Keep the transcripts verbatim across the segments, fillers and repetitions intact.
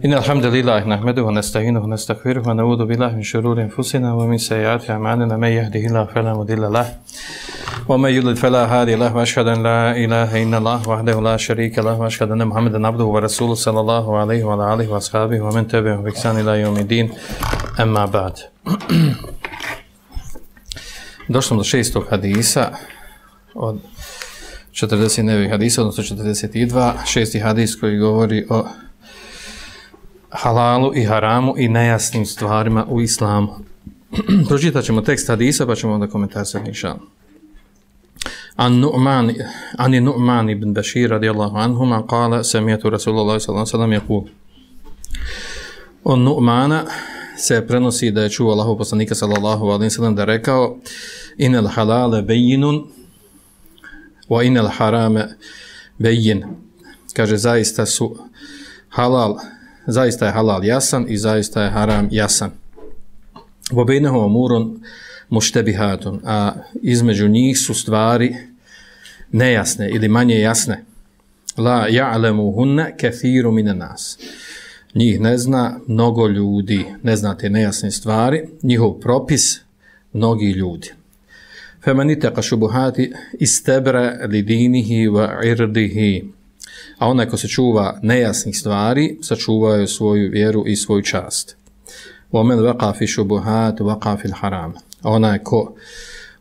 إن الحمد لله نحمده ونستعينه ونستغفره ونعوذ بالله من شرور أنفسنا ومن سيئات أعمالنا من يهده الله فلا مضل له ومن يضلل فلا هادي له وأشهد أن لا إله إلا الله وحده لا شريك له وأشهد أن محمدا عبده ورسوله صلى الله عليه وعلى آله وأصحابه ومن تبعهم بإحسان إلى يوم الدين أما بعد. Došli do šestog hadisa od četrdeset devet hadisa, odnosno četrdeset dva, šesti hadis koji govori o halalu i haramu i nejasnim stvarima u islamu. Pročitat ćemo tekst hadisa pa ćemo onda komentarisati inšallah. An Nu'man an Nu'man ibn Bashir radijallahu anhuma qala sami'tu Rasulullah sallallahu alejhi ve sellem yaqul. On Nu'mana se prenosi da je čuo Allahov poslanika sallallahu alejhi ve sellem da rekao: Inal halale bejinun wa inal harame bejin. Kaže, zaista su halal, zaista je halal jasan i zaista je haram jasan. Wa bainahuma umurun muštebihatun, a između njih su stvari nejasne ili manje jasne. La ja'lemuhunna kathiru minan nas. Njih ne zna mnogo ljudi, ne zna te nejasne stvari, njihov propis mnogi ljudi. فَمَنِ اتَّقَ شُبُهَاتِ اسْتَبْرَ لِدِينِهِ وَعِرْدِهِ. A onaj ko se čuva nejasnih stvari, sačuvaju svoju vjeru i svoju čast. وَمَنْ وَقَى فِي شُبُهَاتِ وَقَى فِي الْحَرَامِ. A onaj ko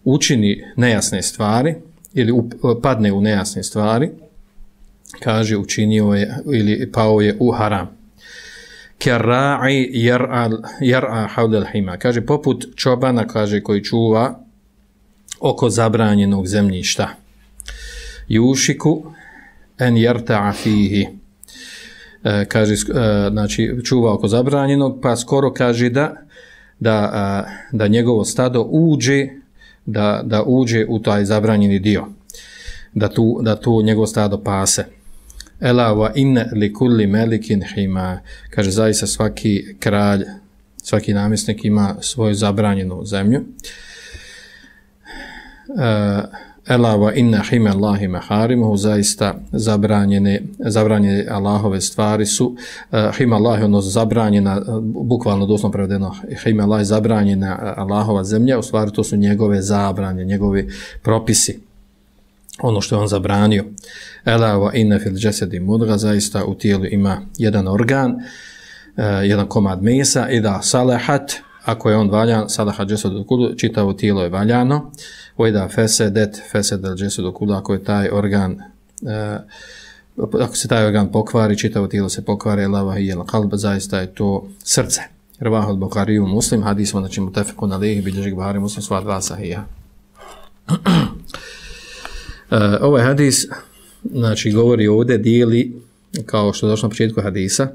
učini nejasne stvari ili padne u nejasne stvari, kaže učinio je ili pao je u haram. Kerra'i jar'a havlel hima. Kaže, poput čobana, kaže, koji čuva oko zabranjenog zemljišta. Jušiku en jarta'a fihi. E, kaže, e, znači, čuva oko zabranjenog, pa skoro kaže da, da, a, da njegovo stado uđe, da, da uđe u taj zabranjeni dio. Da tu, da tu njegovo stado pase. Ela wa inna li kulli melikin hima. Kaže, zaista svaki kralj, svaki namjesnik ima svoju zabranjenu zemlju. Uh, Ela wa inna hima Allahi maharimuhu. Zaista zabranjene, zabranjene Allahove stvari su uh, hima Allahi, ono zabranjena, bukvalno doslovno prevedeno, hima Allahi zabranjena Allahova zemlja, u stvari to su njegove zabranje, njegovi propisi, ono što je on zabranio. Ela wa inna fil jasadi mudgha. Zaista u tijelu ima jedan organ, uh, jedan komad mesa, i da salahat, ako je on valjan, salahat jasadu kullu, čitavo tijelo je valjano. Wa da fasadat fasada al jasadu kullu, ako je taj organ uh, ako se taj organ pokvari, čitavo tijelo se pokvari. Ela wa hiya al qalb. Zaista je to srce. Rawahu al-Bukhari wa Muslim. Hadis znači mutafaqun alayhi, bilježi Buhari Muslim, sva dva sahiha. Uh, ovaj hadis, znači, govori ovdje, dijeli, kao što je došlo na početku hadisa,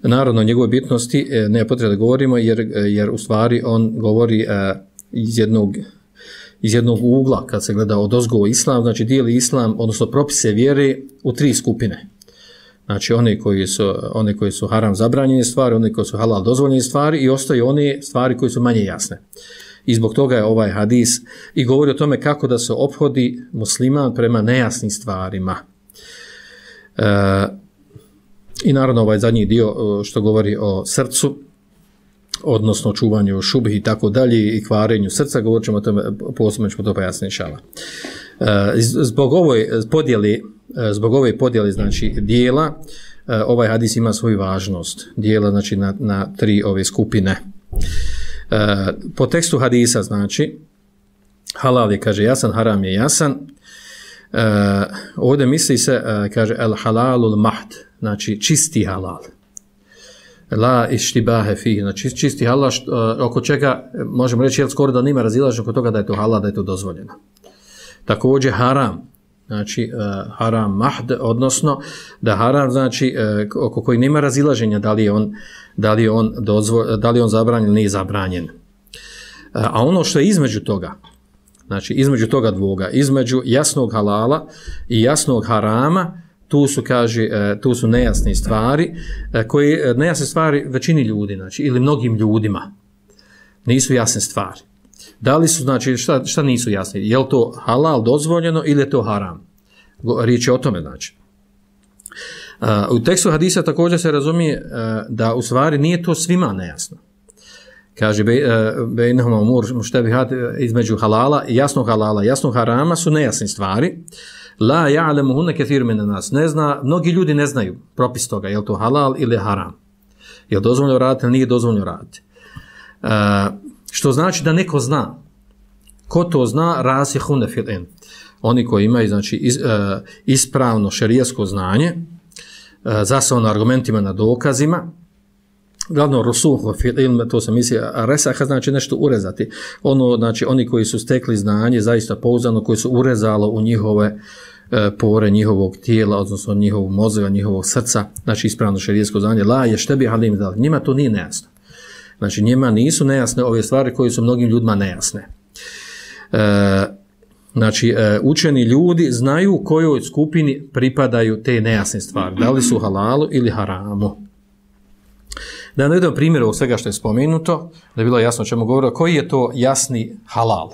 naravno njegove bitnosti eh, ne je potrebno da govorimo, jer, jer u stvari on govori eh, iz, jednog, iz jednog ugla, kad se gleda od ozgo islam, znači dijeli islam, odnosno propise vjere u tri skupine. Znači one koji su, one koji su haram zabranjene stvari, one koji su halal dozvoljene stvari, i ostaju one stvari koji su manje jasne. I zbog toga je ovaj hadis i govori o tome kako da se ophodi musliman prema nejasnim stvarima. E, I naravno ovaj zadnji dio što govori o srcu, odnosno čuvanju šubhi i tako dalje i kvarenju srca, govorit ćemo o tome, posebno ćemo to pojasniti inšallah. E, zbog ovoj podjeli, zbog ove podjeli, znači, dijela, ovaj hadis ima svoju važnost. Dijela, znači, na, na tri ove skupine. Uh, po tekstu hadisa, znači, halal je, kaže, jasan, haram je jasan. Uh, ovdje misli se, uh, kaže, el halalul mahd, znači čisti halal. La ištibahe fih, znači čisti halal, što, uh, oko čega možemo reći, jel skoro da nima razilaženja oko toga da je to halal, da je to dozvoljeno. Također haram, znači uh, haram mahd, odnosno da haram, znači uh, oko koji nema razilaženja da li je on, da li je on, dozvo, da li je on zabranjen ili nije zabranjen. Uh, a ono što je između toga, znači između toga dvoga, između jasnog halala i jasnog harama, tu su, kaže, uh, tu su nejasne stvari, uh, koje, nejasne stvari većini ljudi, znači, ili mnogim ljudima, nisu jasne stvari. Da li su, znači, šta, šta nisu jasni? Je li to halal dozvoljeno ili je to haram? Riječ je o tome, znači. U tekstu hadisa također se razumije da u stvari nije to svima nejasno. Kaže, bejnehuma umur muštebihat, između halala i jasnog halala, jasnog harama su nejasne stvari. La ja'lemuhunne kethir min nas. Ne zna, mnogi ljudi ne znaju propis toga, je li to halal ili haram. Je li dozvoljeno raditi ili nije dozvoljeno raditi. Uh, što znači da neko zna. Ko to zna, rasihune fil ilm. Oni koji imaju znači iz, uh, ispravno šerijasko znanje, uh, zasnovano argumentima na dokazima, glavno rusuhu fil ilm, to se misli, a resaha znači nešto urezati. Ono, znači oni koji su stekli znanje, zaista pouzdano, koji su urezalo u njihove pore njihovog tijela, odnosno njihovog mozga, njihovog srca, znači ispravno šerijetsko znanje, la je štebi halim dal. Njima to nije nejasno. Znači njima nisu nejasne ove stvari koje su mnogim ljudima nejasne. E, znači e, učeni ljudi znaju kojoj skupini pripadaju te nejasne stvari. Da li su halalu ili haramu. Da navedemo primjer ovog svega što je spomenuto, da je bilo jasno o čemu govorio, koji je to jasni halal.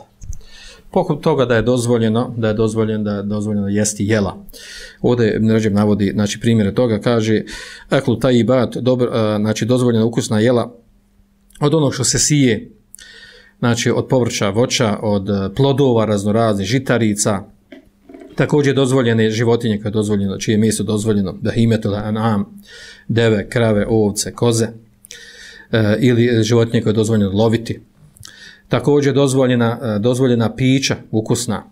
Poput toga da je dozvoljeno, da je dozvoljeno, da je dozvoljeno jesti jela. Ovdje Ređeb navodi, znači primjere toga, kaže eklu tajibat, dobro, znači dozvoljena ukusna jela od onog što se sije, znači od povrća, voća, od plodova raznoraznih, žitarica, također dozvoljene životinje koje je dozvoljeno, čije je meso dozvoljeno, behimetul an'am, deve, krave, ovce, koze, e, ili životinje koje je dozvoljeno loviti. Također dozvoljena, dozvoljena pića, ukusna,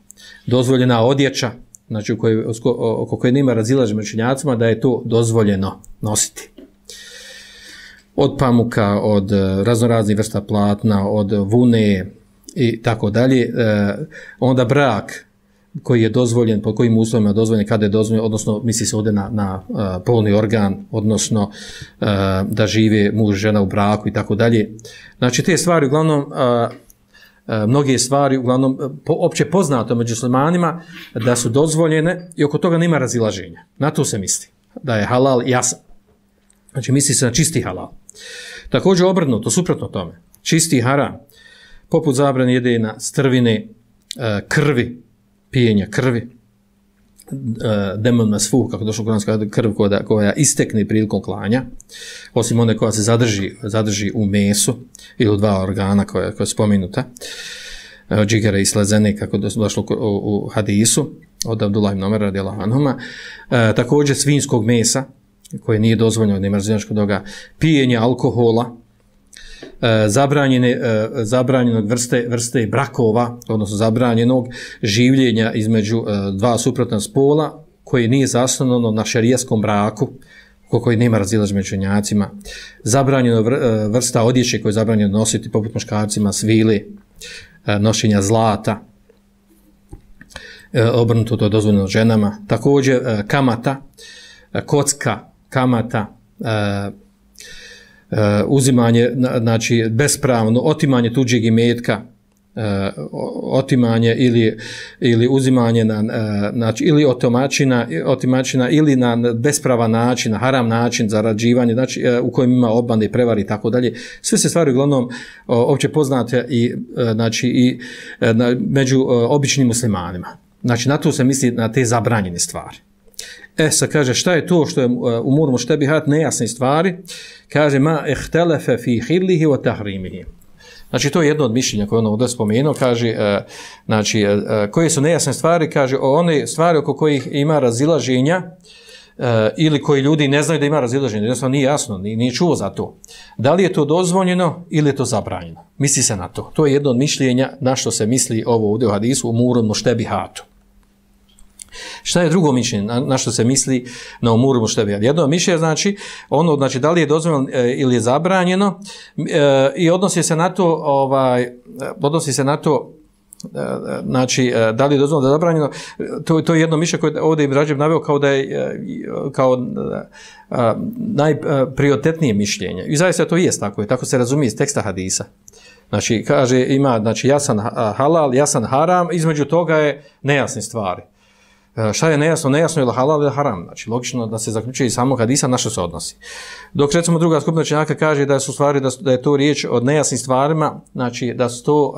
dozvoljena odjeća, znači u kojoj, oko koje nema razilaženja među učenjacima, da je to dozvoljeno nositi. Od pamuka, od raznoraznih vrsta platna, od vune i tako dalje. Onda brak koji je dozvoljen, po kojim uslovima je dozvoljen, kada je dozvoljen, odnosno misli se ovdje na, na uh, polni organ, odnosno uh, da žive muž, žena u braku i tako dalje. Znači te stvari uglavnom, uh, uh, mnoge stvari uglavnom po, opće poznato među muslimanima da su dozvoljene i oko toga nema razilaženja. Na to se misli, da je halal jasan. Znači misli se na čisti halal. Također obrnuto, suprotno tome, čisti haram, poput zabrane jedenja strvine, uh, krvi, pijenja krvi, demon masfuh, kako došlo kuranska krv koja, koja istekne prilikom klanja, osim one koja se zadrži, zadrži u mesu ili u dva organa koja, koja je spomenuta, džigere i slezene, kako došlo u, u hadisu, od Abdullah ibn Omer radijallahu anhuma, e, također svinjskog mesa, koje nije dozvoljeno, nema razinačkog toga, pijenja alkohola, E, zabranjene, e, zabranjenog vrste, vrste brakova, odnosno zabranjenog življenja između e, dva suprotna spola, koje nije zasnovano na šerijskom braku, koji nema razilaženja među učenjacima. Zabranjeno vr, e, vrsta odjeće koje je zabranjeno nositi, poput muškarcima, svile, e, nošenja zlata, e, obrnuto to je dozvoljeno ženama. Također e, kamata, e, kocka, kamata, e, Uh, uzimanje, znači bespravno, otimanje tuđeg imetka, uh, otimanje ili, ili uzimanje na, uh, znači, ili otimačina, otimačina ili na bespravan način, na haram način, zarađivanje, znači uh, u kojem ima obmane, prevari i tako dalje. Sve se stvari uglavnom uh, opće poznate i, uh, znači, i uh, na, među uh, običnim muslimanima. Znači na to se misli na te zabranjene stvari. E, sad kaže, šta je to što je u murmu štebihat nejasne stvari? Kaže, ma ihtelefe fi hillihi wa tahrimihi. Znači, to je jedno od mišljenja koje ono ovdje spomenuo. Kaže, e, znači, e, koje su nejasne stvari? Kaže, o one stvari oko kojih ima razilaženja e, ili koji ljudi ne znaju da ima razilaženja. Jednostavno nije jasno, nije, nije čuo za to. Da li je to dozvoljeno ili je to zabranjeno? Misli se na to. To je jedno od mišljenja na što se misli ovo ovdje u hadisu u murmu štebihatu. Šta je drugo mišljenje, na, na što se misli na umuru muštebihad? Jedno mišljenje znači, ono, znači, da li je dozvoljeno e, ili je zabranjeno e, i odnosi se na to, ovaj, odnosi se na to, e, znači, e, da li je dozvoljeno da je zabranjeno, to, to je jedno mišljenje koje ovdje Ibn Ređeb naveo kao da je e, kao e, najprioritetnije mišljenje. I zaista to jest tako, tako se razumije iz teksta hadisa. Znači, kaže, ima znači, jasan halal, jasan haram, između toga je nejasne stvari. Šta je nejasno? Nejasno je li halal ili haram. Znači, logično da se zaključuje iz samog hadisa na što se odnosi. Dok, recimo, druga skupina učenjaka kaže da su stvari, da, su, da je to riječ od nejasnim stvarima, znači da su to uh,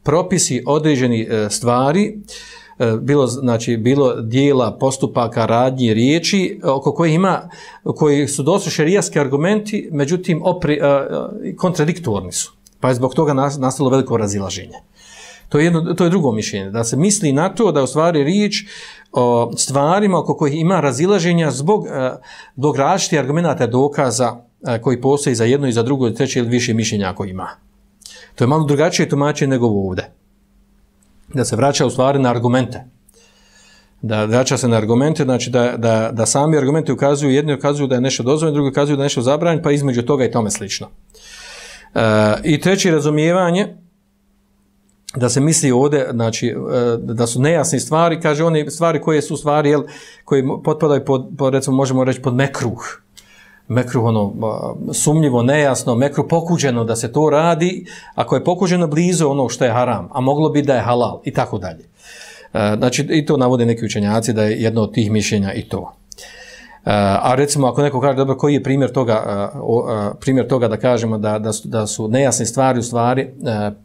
propisi određeni uh, stvari bilo, znači, bilo dijela, postupaka, radnji, riječi, oko kojih ima, koji su dosta šerijatski argumenti, međutim, opri, kontradiktorni su. Pa je zbog toga nastalo veliko razilaženje. To je, jedno, to je drugo mišljenje, da se misli na to da u stvari riječ o stvarima oko kojih ima razilaženja zbog, zbog različitih argumenata dokaza koji postoji za jedno i za drugo, treće ili više mišljenja ako ima. To je malo drugačije tumačenje nego ovdje. Da se vraća u stvari na argumente. Da vraća se na argumente, znači da, da, da sami argumenti ukazuju, jedni ukazuju da je nešto dozvoljeno, drugi ukazuju da je nešto zabranjeno, pa između toga i tome slično. E, I treće razumijevanje, da se misli ovdje, znači, da su nejasne stvari, kaže one stvari koje su stvari, jel, koje potpadaju pod, pod, recimo, možemo reći pod mekruh. Mekruh, ono, sumnjivo, nejasno, mekruh pokuđeno da se to radi, ako je pokuđeno blizu ono što je haram, a moglo bi da je halal, i tako dalje. Znači, i to navode neki učenjaci da je jedno od tih mišljenja i to. A recimo, ako neko kaže, dobro, koji je primjer toga, primjer toga da kažemo da, da, su, da su nejasne stvari u stvari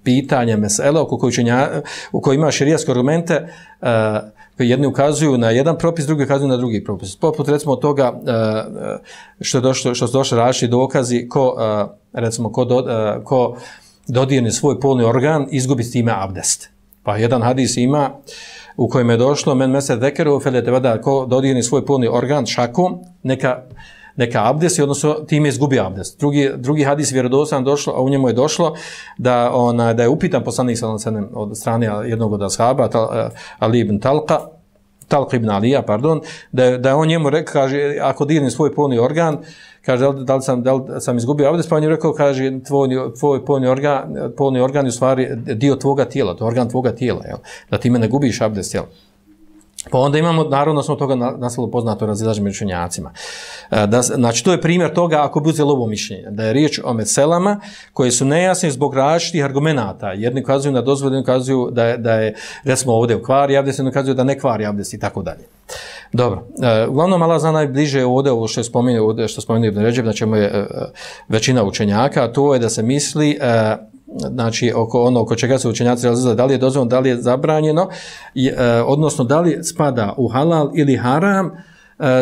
pitanje mesele oko koji učenja, u kojoj ima šerijatske argumente, koji jedni ukazuju na jedan propis, drugi ukazuju na drugi propis. Poput recimo toga što, je došlo, što su došli različiti dokazi ko, recimo, ko, do, ko dodirne svoj polni organ, izgubi s time abdest. Pa jedan hadis ima u kojem je došlo men meser dekeru felete vada, ko dodirne svoj polni organ šakom, neka, neka abdesti, odnosno time izgubi abdest. Drugi, drugi hadis vjerodostojno došlo, a u njemu je došlo da, ona, da je upitan poslanik sallallahu alejhi ve sellem od strane jednog od ashaba, tal, Ali ibn Talqa, Talq ibn Alija, pardon, da, da on njemu rekao, kaže, ako dirne svoj polni organ, kaže, da li, da li, sam, da li sam izgubio abdest, pa on je rekao, kaže, tvoj, tvoj polni, organ, polni organ je u stvari dio tvoga tijela, to je organ tvoga tijela, jel? Da ti me ne gubiš abdest, jel? Pa onda imamo, naravno, smo toga nastalo poznato razilaženje među učenjacima. Da, znači, to je primjer toga ako bi uzeli ovo mišljenje, da je riječ o meselama koje su nejasne zbog različitih argumenata. Jedni ukazuju na dozvolu, jedni ukazuju da je, da je recimo ovdje kvari abdest, jedni ukazuju da ne kvari abdest i tako dalje. Dobro, uglavnom Allah zna najbliže ovdje ovo što je spomenuo, ovdje što spomenuo Ibn Ređeb, znači je većina učenjaka, a to je da se misli znači oko ono oko čega se učenjaci razilaze, da li je dozvoljeno, da li je zabranjeno, i, e, odnosno da li spada u halal ili haram e,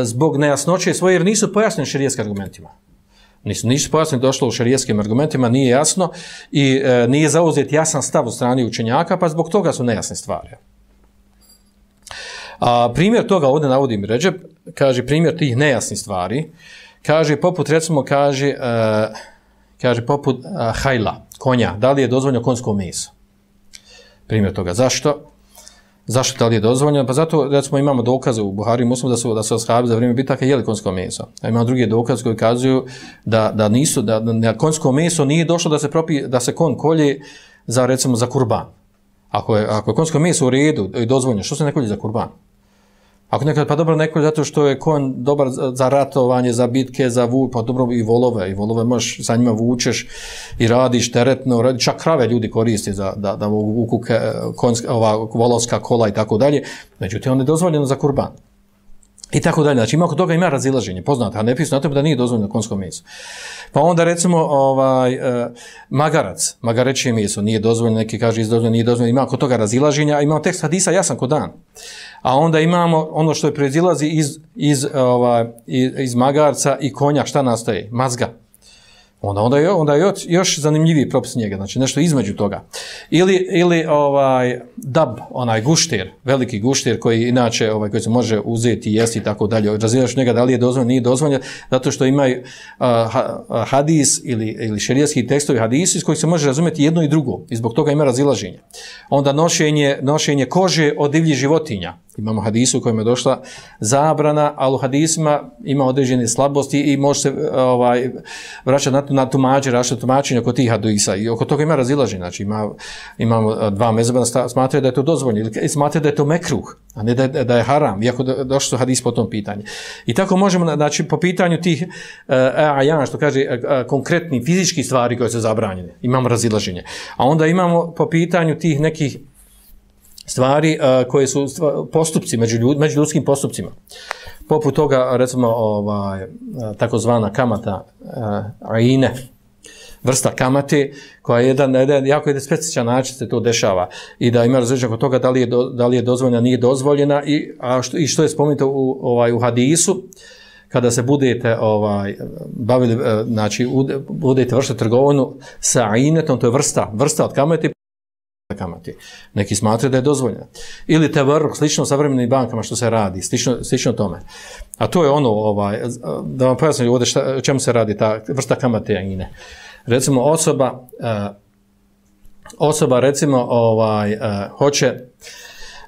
zbog nejasnoće svoje, jer nisu pojasnjeni šerijskim argumentima. Nisu, nisu pojasnjeni, došlo u šerijskim argumentima, nije jasno i e, nije zauzet jasan stav u strani učenjaka, pa zbog toga su nejasne stvari. A primjer toga ovdje navodim Ređeb, kaže primjer tih nejasnih stvari, kaže poput recimo, kaže, e, kaže poput e, hajla, konja, da li je dozvoljeno konjsko meso? Primjer toga. Zašto? Zašto da li je dozvoljeno? Pa zato, recimo, imamo dokaze u Buhari i Muslimu da su, da su ashabi za vrijeme bitaka jeli konjsko meso. A imamo drugi dokaze koji kazuju da, da nisu, da, da konjsko meso nije došlo da se propi, da se konj kolje za, recimo, za kurban. Ako je, ako je konjsko meso u redu i dozvoljeno, što se ne kolje za kurban? Ako nekad, pa dobro, neko zato što je konj dobar za ratovanje, za bitke, za vu, pa dobro i volove, i volove možeš, sa njima vučeš i radiš teretno, radi, čak krave ljudi koriste za, da, da vuku konjska, ova volovska kola i tako dalje, međutim, on je dozvoljeno za kurban. I tako dalje, znači ima oko toga ima razilaženje, poznate, a ne pisu na tome da nije dozvoljeno konjsko meso. Pa onda recimo ovaj, eh, magarac, magarećije meso, nije dozvoljeno, neki kaže izdozvoljeno, nije dozvoljeno, ima oko toga razilaženja, a imamo tekst hadisa jasan ko dan. A onda imamo ono što je proizilazi iz, iz, ovaj, iz, iz magarca i konja, šta nastaje? Mazga. Onda, onda je, onda je još, još zanimljiviji propis njega, znači nešto između toga. Ili, ili ovaj, dab, onaj guštir, veliki guštir koji inače ovaj, koji se može uzeti i jesti i tako dalje. Razilaš njega da li je dozvoljeno, nije dozvoljeno, zato što imaju uh, hadis ili, ili šerijatski tekstovi hadisi iz kojih se može razumjeti jedno i drugo i zbog toga ima razilaženje. Onda nošenje, nošenje kože od divljih životinja. Imamo hadisu u kojem je došla zabrana, ali u hadisima ima određene slabosti i može se ovaj, vraćati na, na tumađe, rašati tumačenje oko tih hadisa. I oko toga ima razilaženje. Znači ima, imamo dva mezheba smatraju da je to dozvoljeno ili smatraju da je to mekruh, a ne da je, da je haram, iako došli su hadis po tom pitanju. I tako možemo, znači po pitanju tih ajan, uh, što kaže, uh, konkretni fizički stvari koje su zabranjene, imamo razilaženje. A onda imamo po pitanju tih nekih stvari uh, koje su stva, postupci među, ljud, među ljudskim postupcima. Poput toga, recimo, ovaj, takozvana kamata uh, ajine, vrsta kamate, koja je jedan, jedan jako jedan specifičan način se to dešava i da ima različenje oko toga da li je, do, da li je dozvoljena, nije dozvoljena i, a što, i što je spomenuto u, ovaj, u hadisu, kada se budete ovaj, bavili, znači budete vršiti trgovinu sa inetom, to je vrsta, vrsta od kamate, kamate. Neki smatraju da je dozvoljena. Ili tevarruk, slično savremenim bankama što se radi, slično, slično tome. A to je ono, ovaj, da vam pojasnim ovdje šta, čemu se radi ta vrsta kamate ine. Recimo osoba, uh, osoba recimo ovaj, uh, hoće,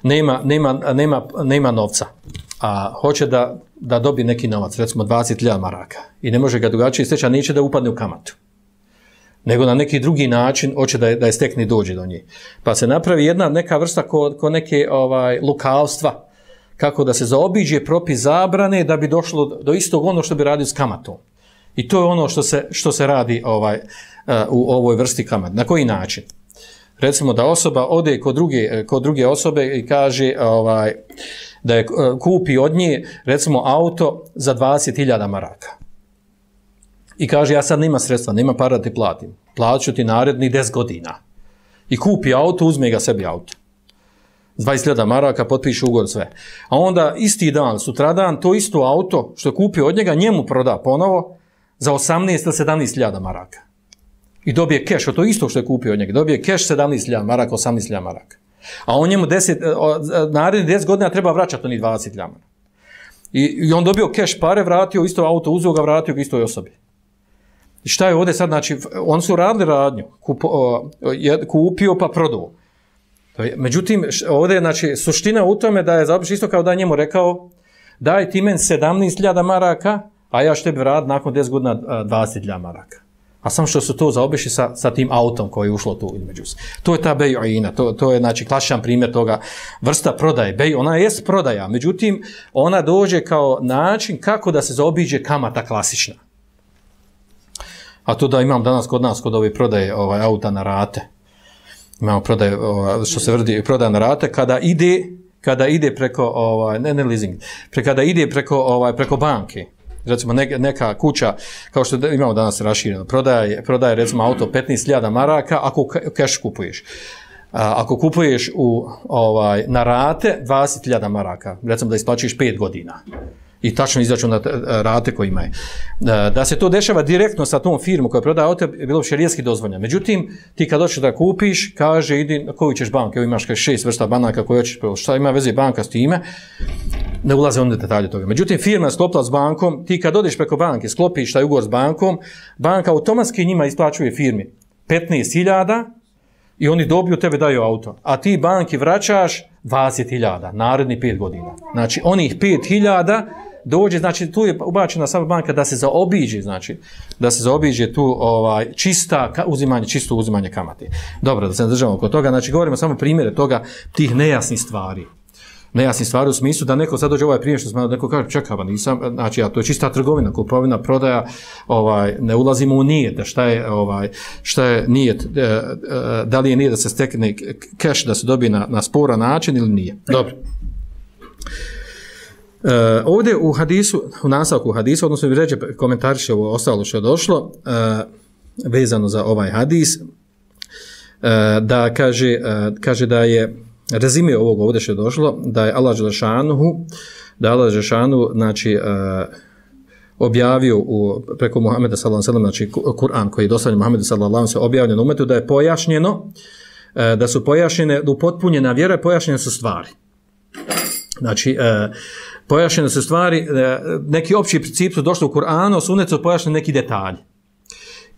nema, nema, nema, nema novca, a hoće da, da dobije neki novac, recimo dvadeset hiljada maraka i ne može ga drugačije steći, a neće da upadne u kamatu. Nego na neki drugi način hoće da je, da je stekne dođe do nje. Pa se napravi jedna neka vrsta ko, ko neke ovaj, lukavstva, kako da se zaobiđe propis zabrane da bi došlo do istog ono što bi radio s kamatom. I to je ono što se, što se radi ovaj, uh, u ovoj vrsti kamata. Na koji način? Recimo da osoba ode kod druge, kod druge osobe i kaže ovaj, da je uh, kupi od nje recimo auto za dvadeset hiljada maraka. I kaže, ja sad nema sredstva, nema para da ti platim. Plaću ti naredni deset godina. I kupi auto, uzme ga sebi auto. dvadeset hiljada maraka, potpiše ugovor, sve. A onda isti dan, sutradan, to isto auto što je kupio od njega, njemu proda ponovo za osamnaest ili sedamnaest hiljada maraka. I dobije keš, od to isto što je kupio od njega. Dobije keš sedamnaest hiljada maraka, osamnaest hiljada maraka. A on njemu deset, naredni deset godina treba vraćati onih dvadeset hiljada maraka. I, I on dobio keš pare, vratio isto auto, uzeo ga, vratio ga istoj osobi. I šta je ovdje sad, znači, oni su radili radnju, kupo, je, kupio pa prodao. Međutim, ovdje je, znači, suština u tome da je zaobiš isto kao da je njemu rekao, daj ti men sedamnaest hiljada maraka, a ja što tebi vrat nakon deset godina dvadeset hiljada maraka. A samo što su to zaobišli sa, sa tim autom koji je ušlo tu između se. To je ta bej'ina, to, to je, znači, klasičan primjer toga vrsta prodaje. Bej, ona jest prodaja, međutim, ona dođe kao način kako da se zaobiđe kamata klasična. A to da imam danas kod nas, kod ove prodaje ovaj, auta na rate, imamo prodaje, ovaj, što se vrdi, prodaje na rate, kada ide, kada ide preko, ovaj, ne, ne leasing, pre, kada ide preko, ovaj, preko banke, recimo neka, neka kuća, kao što imamo danas rašireno, prodaje, prodaje recimo auto petnaest hiljada maraka, ako keš kupuješ. A, ako kupuješ u, ovaj, na rate, dvadeset hiljada maraka, recimo da isplaćuješ pet godina. I tačno izračuna rate koje imaju. Da se to dešava direktno sa tom firmom koja prodaje auto, je bilo šerijski dozvoljeno. Međutim, ti kad hoćeš da kupiš, kaže, idi na koju ćeš banku, evo imaš šest vrsta banaka koje hoćeš, šta ima veze banka s time, ne ulaze onda detalje toga. Međutim, firma je sklopila s bankom, ti kad odeš preko banke, sklopiš taj ugovor s bankom, banka automatski njima isplaćuje firmi petnaest hiljada i oni dobiju, tebe daju auto. A ti banki vraćaš dvadeset hiljada, naredni pet godina. Znači, onih pet hiljada dođe, znači tu je ubačena sama banka da se zaobiđe, znači da se zaobiđe tu ovaj čista uzimanje, čisto uzimanje kamate. Dobro, da se držimo oko toga, znači govorimo samo primjere toga, tih nejasnih stvari. Nejasnih stvari u smislu da neko sad dođe ovaj primjer što smo neko kaže čekaj, pa nisam, znači ja to je čista trgovina, kupovina, prodaja, ovaj ne ulazimo u nijet, da šta je ovaj šta je nijet, da li je nijet da se stekne keš da se dobije na na sporan način ili nije. Dobro. Uh, ovdje u hadisu, u nastavku hadisu, odnosno bi reći komentariše ovo ostalo što je došlo, uh, vezano za ovaj hadis, uh, da kaže, uh, kaže da je rezime ovog ovdje što je došlo, da je Allah Đelešanuhu, da je Allah Đelešanuhu, znači, uh, objavio u, preko Muhameda sallallahu alejhi ve sellem, znači Kur'an koji je dostavljen Muhammedu sallallahu alejhi ve sellem, objavljen umetu, da je pojašnjeno, uh, da su pojašnjene, da upotpunjena vjera, pojašnjene su stvari. Znači, uh, pojašnjene su stvari, neki opći princip su došli u Kur'anu, u sunnetu su pojašnjeni neki detalji.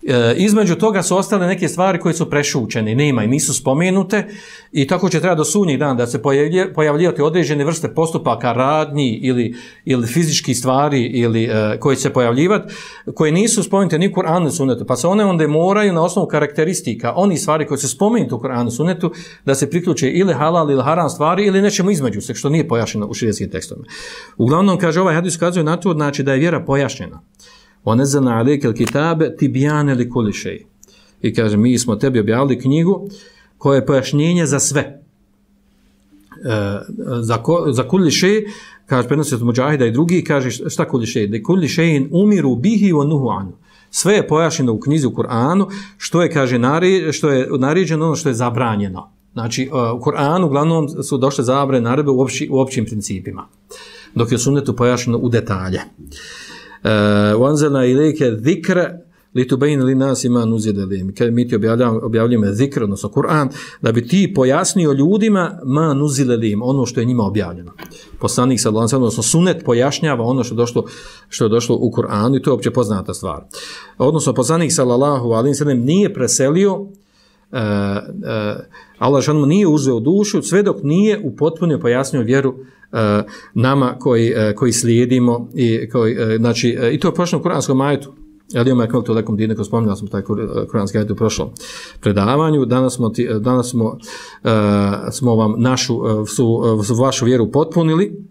E, između toga su ostale neke stvari koje su prešućene, nema i nisu spomenute i tako će treba do sudnjeg dana da se pojavljivati određene vrste postupaka, radnji ili, ili fizički stvari ili e, koje će se pojavljivati, koje nisu spomenute ni u Kur'anu i sunnetu, pa se one onda moraju na osnovu karakteristika, oni stvari koje su spomenute u Kur'anu i sunnetu, da se priključe ili halal ili haram stvari ili nečemu između se, što nije pojašnjeno u širijskim tekstovima. Uglavnom, kaže, ovaj hadis ukazuje na to, znači da je vjera pojašnjena. وَنَزَّلْنَا عَلَيْكَ الْكِتَابَ تِبْيَانَ لِكُلِّ شَيْءٍ. I kaže, mi smo tebi objavili knjigu koja je pojašnjenje za sve. E, za, ko, za kulli šej, kaže, prenosi od Muđahida i drugi, kaže, šta kulli šej? Da kulli šejin umiru bihi wa nuhu anu. Sve je pojašnjeno u knjizi u Kur'anu, što je, kaže, nari, što je naređeno, ono što je zabranjeno. Znači, u Kur'anu uglavnom su došle zabrane naredbe u, opći, u općim principima, dok je u sunnetu pojašnjeno u detalje. Wanzalna ilike zikra litubayna linnasi ma nuzila ilayhim. Kad mi ti objavljujemo, objavljujemo zikr, odnosno Kur'an, da bi ti pojasnio ljudima ma nuzila ilayhim, ono što je njima objavljeno. Poslanik sallallahu alejhi ve sellem, odnosno sunnet pojašnjava ono što je došlo, što je došlo u Kur'anu i to je opće poznata stvar. Odnosno poslanik sallallahu alejhi ve sellem nije preselio, uh, uh, Allah dželle nije uzeo dušu sve dok nije upotpunio pojasnio vjeru uh, nama koji, uh, koji slijedimo i koji, uh, znači, uh, i to je pošlo u kuranskom ajetu. Ali imamo ekmel to lekom dine, ko spominjali smo taj kuranski ajet u prošlom predavanju. Danas smo, ti, danas smo, uh, smo vam našu, uh, su, uh, vašu vjeru potpunili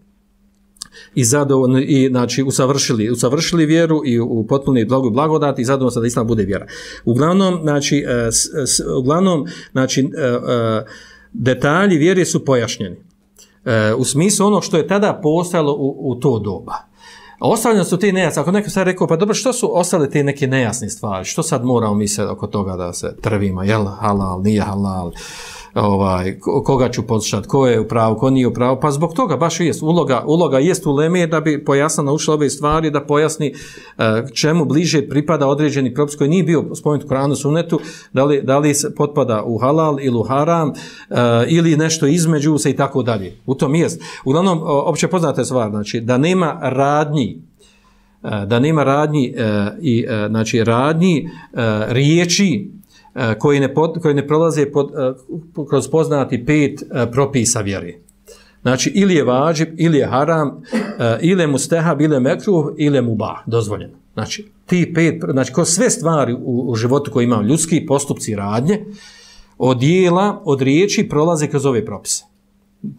i zadovoljni, i znači usavršili, usavršili vjeru i upotpunili blagu blagodati i zadovoljno da islam bude vjera. Uglavnom, znači, uh, s, s, uglavnom, znači uh, uh, detalji vjere su pojašnjeni. Uh, u smislu ono što je tada postojalo u, u to doba. Ostavljene su te nejasne. Ako neko sad rekao, pa dobro, što su ostale te neke nejasne stvari? Što sad moramo mi se oko toga da se trvimo? Jel halal, nije halal? Ovaj, koga ću poslušati? Ko je u pravu, ko nije u pravu? Pa zbog toga baš jest. Uloga, uloga jest u uleme da bi pojasnila, naučila ove stvari, da pojasni uh, čemu bliže pripada određeni propis koji nije bio spomenut u Kur'anu sunnetu, da li, da li se potpada u halal ili u haram, uh, ili nešto između se i tako dalje. U tom jest. Uglavnom, opće poznata stvar, znači, da nema radnji, uh, da nema radnji, uh, i, uh, znači, radnji, uh, riječi, koji ne, pod, koji ne prolaze pod, uh, kroz poznati pet uh, propisa vjere. Znači, ili je vađib, ili je haram, uh, ili je mustehab, ili je mekruh, ili je mubah, dozvoljeno. Znači, ti pet, znači, kroz sve stvari u, u životu koji imamo, ljudski postupci radnje, od dijela, od riječi, prolaze kroz ove propise.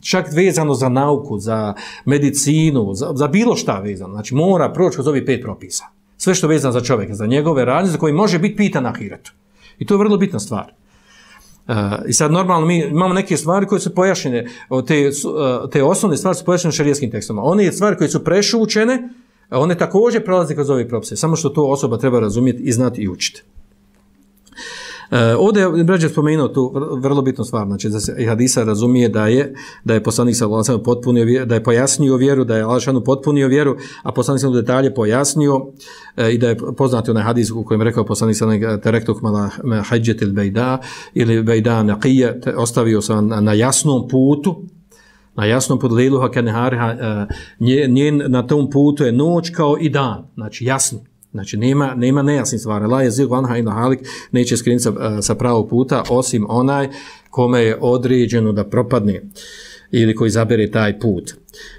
Čak vezano za nauku, za medicinu, za, za bilo šta vezano. Znači, mora proći kroz ove pet propisa. Sve što je vezano za čovjeka, za njegove radnje, za koji može biti pitan na ahiretu. I to je vrlo bitna stvar. Uh, I sad normalno mi imamo neke stvari koje su pojašnjene, te, uh, te osnovne stvari su pojašnjene šerijskim tekstom. One stvari koje su prešućene, one također prolaze kroz ove propise, samo što to osoba treba razumjeti i znati i učiti. Uh, ovdje je brađe spomenuo tu vrlo bitnu stvar, znači da se hadisa razumije da je da je poslanik sallallahu alejhi ve sellem potpunio vjeru, da je pojasnio vjeru, da je Allah potpunio vjeru, a poslanik sallallahu alejhi ve sellem detalje pojasnio uh, i da je poznati onaj hadis u kojem rekao poslanik sallallahu alejhi ve sellem terektuk mala hajjatil bayda ili bayda naqiya, ostavio sam na, na jasnom putu, na jasnom putu liluha kanhariha, njen na tom putu je noć kao i dan, znači jasni. Znači, nema, nema nejasnih stvari. La je zil vanha ila halik, neće skrenuti sa, sa pravog puta, osim onaj kome je određeno da propadne ili koji zabere taj put.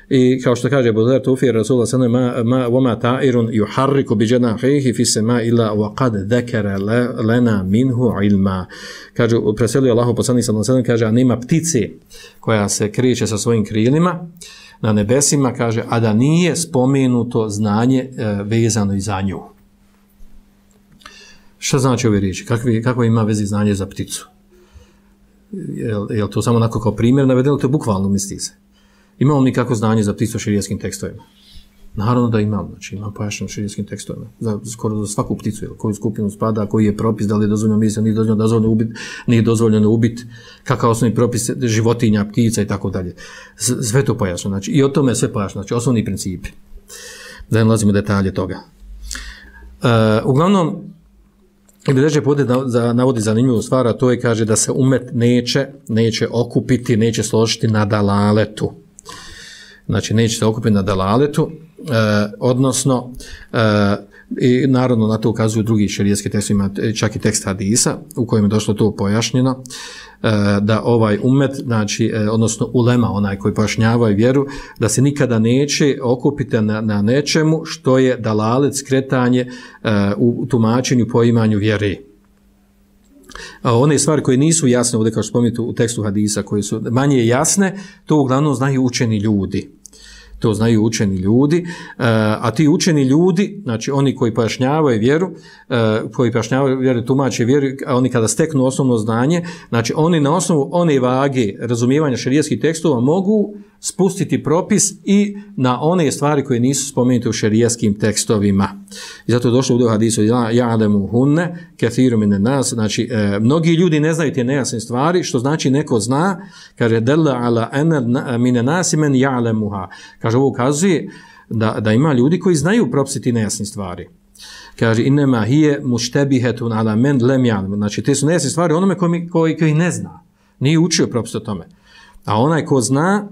I kao što kaže Budar Tufir, Rasulullah sallam, ma, ma, vama ta'irun yuharriku bi janahihi fi sema illa wa qad dhakara lana minhu ilma. Kaže, preselio Allahu poslanik sallam, kaže, a nema ptice koja se kreće sa svojim krilima na nebesima, kaže, a da nije spomenuto znanje e, vezano i za nju. Šta znači ove riječi? Kakve, kakvo ima vezi znanje za pticu? Je, je li to samo onako kao primjer navedeno? To je bukvalno, misli se. Imamo li kako znanje za pticu u šerijskim tekstovima? Naravno da imam, znači imam pojašnjeno šerijskim tekstovima. Za, skoro za svaku pticu, jel, koju skupinu spada, koji je propis, da li je dozvoljeno misli, nije dozvoljeno, dozvoljeno ubit, nije dozvoljeno ubit, kakav osnovni propis životinja, ptica i tako dalje. Sve to pojašnjeno, znači i o tome je sve pojašnjeno, znači osnovni principi. Da ne nalazimo detalje toga. Uh, uglavnom, ili reče povede za, navodi zanimljivu stvar, a to je, kaže, da se umet neće, neće okupiti, neće složiti na dalaletu. Znači, neće se okupiti na dalaletu, eh, odnosno, eh, i naravno na to ukazuju drugi šerijski tekst, ima čak i tekst hadisa, u kojem je došlo to pojašnjeno, eh, da ovaj umet, znači, eh, odnosno ulema, onaj koji pojašnjavaju vjeru, da se nikada neće okupiti na, na nečemu što je dalalet, skretanje eh, u tumačenju, poimanju vjere. A one stvari koje nisu jasne, ovdje kao što spomenuti u tekstu hadisa, koje su manje jasne, to uglavnom znaju učeni ljudi. To znaju učeni ljudi, a ti učeni ljudi, znači oni koji pojašnjavaju vjeru, koji pojašnjavaju vjeru, tumače vjeru, a oni kada steknu osnovno znanje, znači oni na osnovu one vage razumijevanja šerijskih tekstova mogu spustiti propis i na one stvari koje nisu spomenute u šerijskim tekstovima. I zato je došlo u hadisu ja'lemu hunne kathiru minen nas, znači e, mnogi ljudi ne znaju te nejasne stvari, što znači neko zna, kaže dalla ala ana minen nas men ja'lemuha. Kaže ovo ukazuje da, da ima ljudi koji znaju propisi te nejasne stvari. Kaže inema hiye muštebihetun ala men lem ja'lem. Znači te su nejasne stvari onome koji, koji, koji ne zna. Nije učio propis o tome. A onaj ko zna,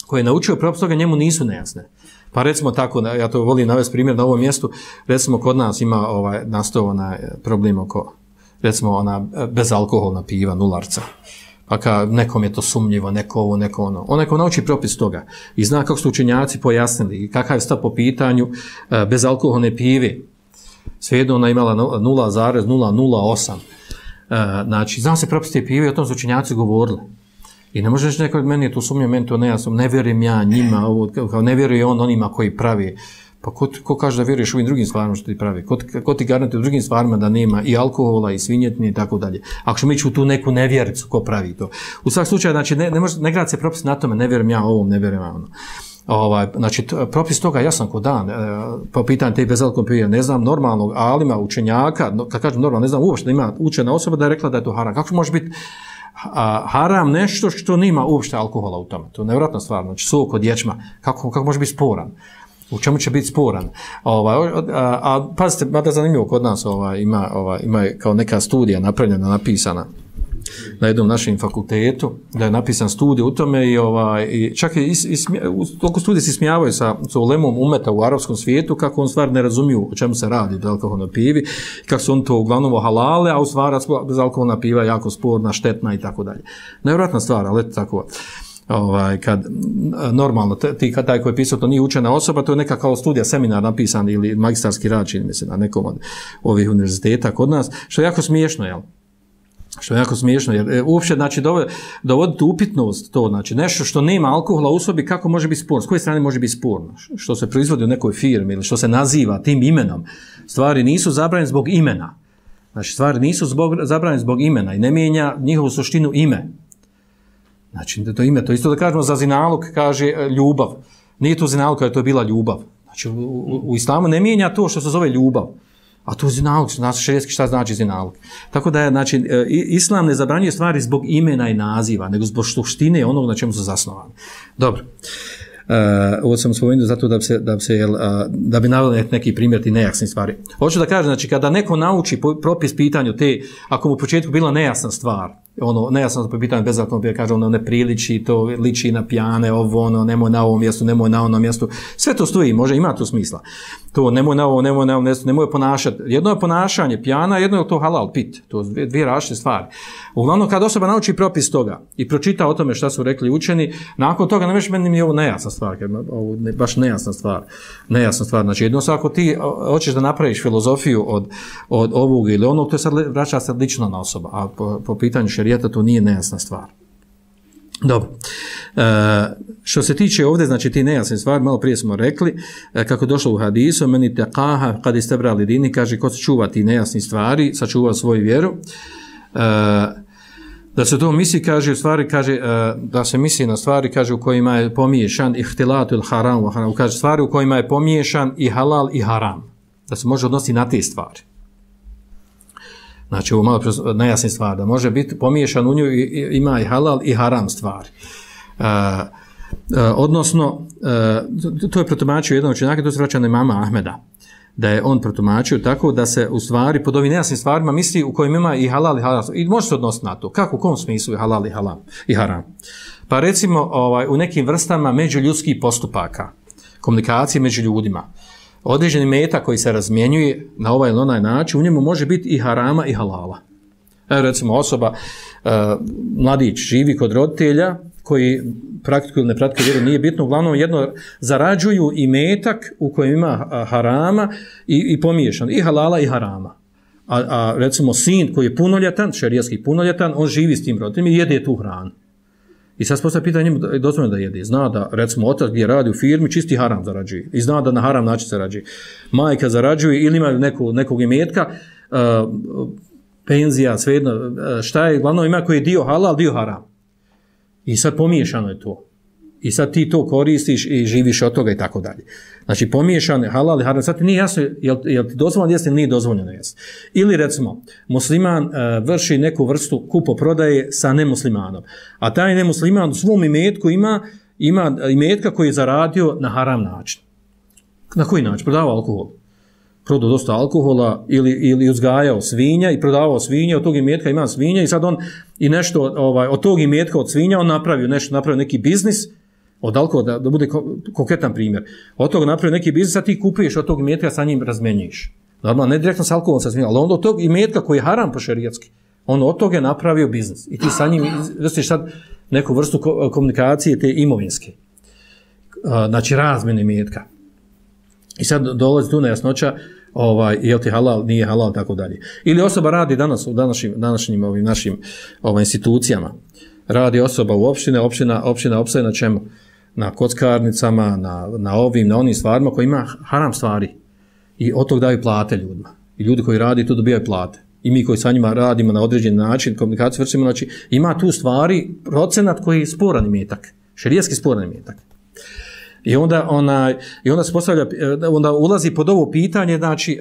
ko je naučio propis toga, njemu nisu nejasne. Pa recimo tako, ja to volim navesti primjer na ovom mjestu, recimo kod nas ima ovaj, nastao onaj problem oko, recimo ona bezalkoholna piva, nularca. Pa ka nekom je to sumnjivo, neko ovo, neko ono. Onaj ko nauči propis toga i zna kako su učenjaci pojasnili i kakav je stav po pitanju e, bezalkoholne pive, svejedno ona imala nula zarez nula nula osam. E, znači, zna se propis te pive i o tom su učenjaci govorili. I ne može reći neko, meni je to sumnje, meni to nejasno, ne vjerujem ja njima, ovo, kao ne vjeruje on onima koji pravi. Pa ko, ko kaže da vjeruješ u ovim drugim stvarima što ti pravi? Ko, ko ti garantuje u drugim stvarima da nema i alkohola i svinjetine i tako dalje? Ako ćemo ići u tu neku nevjericu, ko pravi to? U svakom slučaju, znači, ne, ne, može, ne grad se propis na tome, ne vjerujem ja ovom, ne vjerujem ja ono. Ovaj, znači, propis toga jasan ko dan, e, po pitanju te bezalkoholne pive, ne znam normalnog alima, učenjaka, no, kad kažem normalno, ne znam uopšte da ima učena osoba da je rekla da je to haram. Kako može biti a, haram nešto što nima uopšte alkohola u tome? To je nevjerojatna stvar, znači sok od ječma, kako, kako može biti sporan? U čemu će biti sporan? Ovaj, a, a pazite, mada zanimljivo kod nas ovaj, ima, ovaj, ima kao neka studija napravljena, napisana na jednom našem fakultetu, da je napisan studij u tome i, ovaj, i čak i, i u toliko studije se smijavaju sa, sa ulemom umeta u arapskom svijetu, kako on stvar ne razumiju o čemu se radi do alkoholna pivi, kako su on to uglavnom halale, a u stvari bezalkoholna piva je jako sporna, štetna i tako dalje. Nevjerojatna stvar, ali eto tako. Ovaj, kad normalno, ti kad taj koji je pisao, to nije učena osoba, to je neka kao studija, seminar napisan ili magistarski rad, čini mi se, na nekom od ovih univerziteta kod nas, što je jako smiješno, jel? Što je jako smiješno, jer e, uopće, znači, dovoditi upitnost to, znači, nešto što nema alkohola u sobi, kako može biti sporno, s koje strane može biti sporno, što se proizvodi u nekoj firmi ili što se naziva tim imenom, stvari nisu zabranjene zbog imena, znači, stvari nisu zbog, zabranjene zbog imena i ne mijenja njihovu suštinu ime. Znači, to ime, to isto da kažemo za zinalog, kaže e, ljubav, nije to zinalog kada je to bila ljubav, znači, u, u, u islamu ne mijenja to što se zove ljubav. A to je zinalog, znači šerijetski šta znači zinalog. Tako da je, znači, islam ne zabranjuje stvari zbog imena i naziva, nego zbog suštine onog na čemu su zasnovani. Dobro. Uh, ovo sam spomenuo zato da bi se, da bi se, uh, da bi naveli neki primjer ti nejasne stvari. Hoću da kažem, znači, kada neko nauči propis pitanju te, ako mu u početku bila nejasna stvar, ono, nejasno po pitanju bezalkoholne pive, kaže ono, ne priliči, to liči na pijane, ovo, ono, nemoj na ovom mjestu, nemoj na onom mjestu, sve to stoji, može, ima to smisla. To, nemoj na ovo, nemoj na ovom mjestu, nemoj ponašati. Jedno je ponašanje pijana, jedno je to halal, pit, to dvije, dvije različite stvari. Uglavnom, kad osoba nauči propis toga i pročita o tome šta su rekli učeni, nakon toga ne veš meni mi je ovo nejasna stvar, ovo ne, baš nejasna stvar, nejasna stvar. Znači, jedno ako ti hoćeš da napraviš filozofiju od, od ovog ili onog, to je sad vraća se lično na osoba, a po, po pitanju šerijata to nije nejasna stvar. Dobro. E, što se tiče ovdje, znači ti nejasne stvari, malo prije smo rekli, e, kako je došlo u hadisu, meni taqaha kad istabrali dini, kaže ko se čuva ti nejasni stvari, sačuva svoju vjeru. E, da se to misli, kaže, u stvari, kaže, e, da se misli na stvari, kaže, u kojima je pomiješan ihtilatul haram, haram, kaže, stvari u kojima je pomiješan i halal i haram. Da se može odnositi na te stvari. Znači, ovo malo nejasne stvari, da može biti pomiješan u nju, ima i halal i haram stvari. Uh, uh, odnosno, uh, to je protumačio jedan učenjaka, to se vraća na imama Ahmeda, da je on protumačio tako da se u stvari pod ovim nejasnim stvarima misli u kojim ima i halal i haram. I može se odnositi na to. Kako, u kom smislu je halal i, halam, i haram? Pa recimo, ovaj, u nekim vrstama međuljudskih postupaka, komunikacije među ljudima, određeni meta koji se razmjenjuje na ovaj ili onaj način, u njemu može biti i harama i halala. Evo recimo osoba, uh, mladić živi kod roditelja koji praktikuju ili ne praktikuju vjeru, nije bitno, uglavnom jedno zarađuju i metak u kojem ima harama i, i pomiješan, i halala i harama. A, a recimo sin koji je punoljetan, šerijatski punoljetan, on živi s tim roditeljima i jede tu hranu. I sad se postavlja pitanje njemu dozvoljeno da jede. Zna da, recimo, otac gdje radi u firmi, čisti haram zarađuje. I zna da na haram način zarađuje. Majka zarađuje ili ima neku, nekog imetka, uh, penzija, svejedno, uh, šta je, glavno ima koji je dio halal, dio haram. I sad pomiješano je to. i sad ti to koristiš i živiš od toga i tako dalje. Znači pomiješane halal i haram, sad ti nije jasno jel, jel ti dozvoljeno jesti ili nije dozvoljeno jesti. Ili recimo, musliman uh, vrši neku vrstu kupoprodaje sa nemuslimanom, a taj nemusliman u svom imetku ima, ima imetka koji je zaradio na haram način. Na koji način? Prodavao alkohol. Prodao dosta alkohola ili, ili uzgajao svinja i prodavao svinje, od tog imetka ima svinja i sad on i nešto ovaj, od tog imetka od svinja on napravio nešto, napravio neki biznis od alkohola, da, da bude konkretan primjer. Od toga napravio neki biznis, a ti kupuješ od tog imetka, sa njim razmenjuješ. Normalno, ne direktno sa alkoholom, sa svinjom, ali onda od tog imetka koji je haram po šerijatski, on od toga je napravio biznis. I ti sa njim vrstiš sad neku vrstu komunikacije te imovinske. Znači, razmjene imetka. I sad dolazi tu nejasnoća, ovaj, je li ti halal, nije halal, tako dalje. Ili osoba radi danas u današnjim, današnjim ovim našim ovaj, institucijama. Radi osoba u opštine, opština, opština opstaje na čemu? Na kockarnicama, na, na ovim, na onim stvarima koji ima haram stvari. I od tog daju plate ljudima. I ljudi koji radi tu dobijaju plate. I mi koji sa njima radimo na određen način, komunikaciju vršimo, znači ima tu stvari procenat koji je sporan imetak. Šerijatski sporan imetak. I onda ona i onda se postavlja, onda ulazi pod ovo pitanje, znači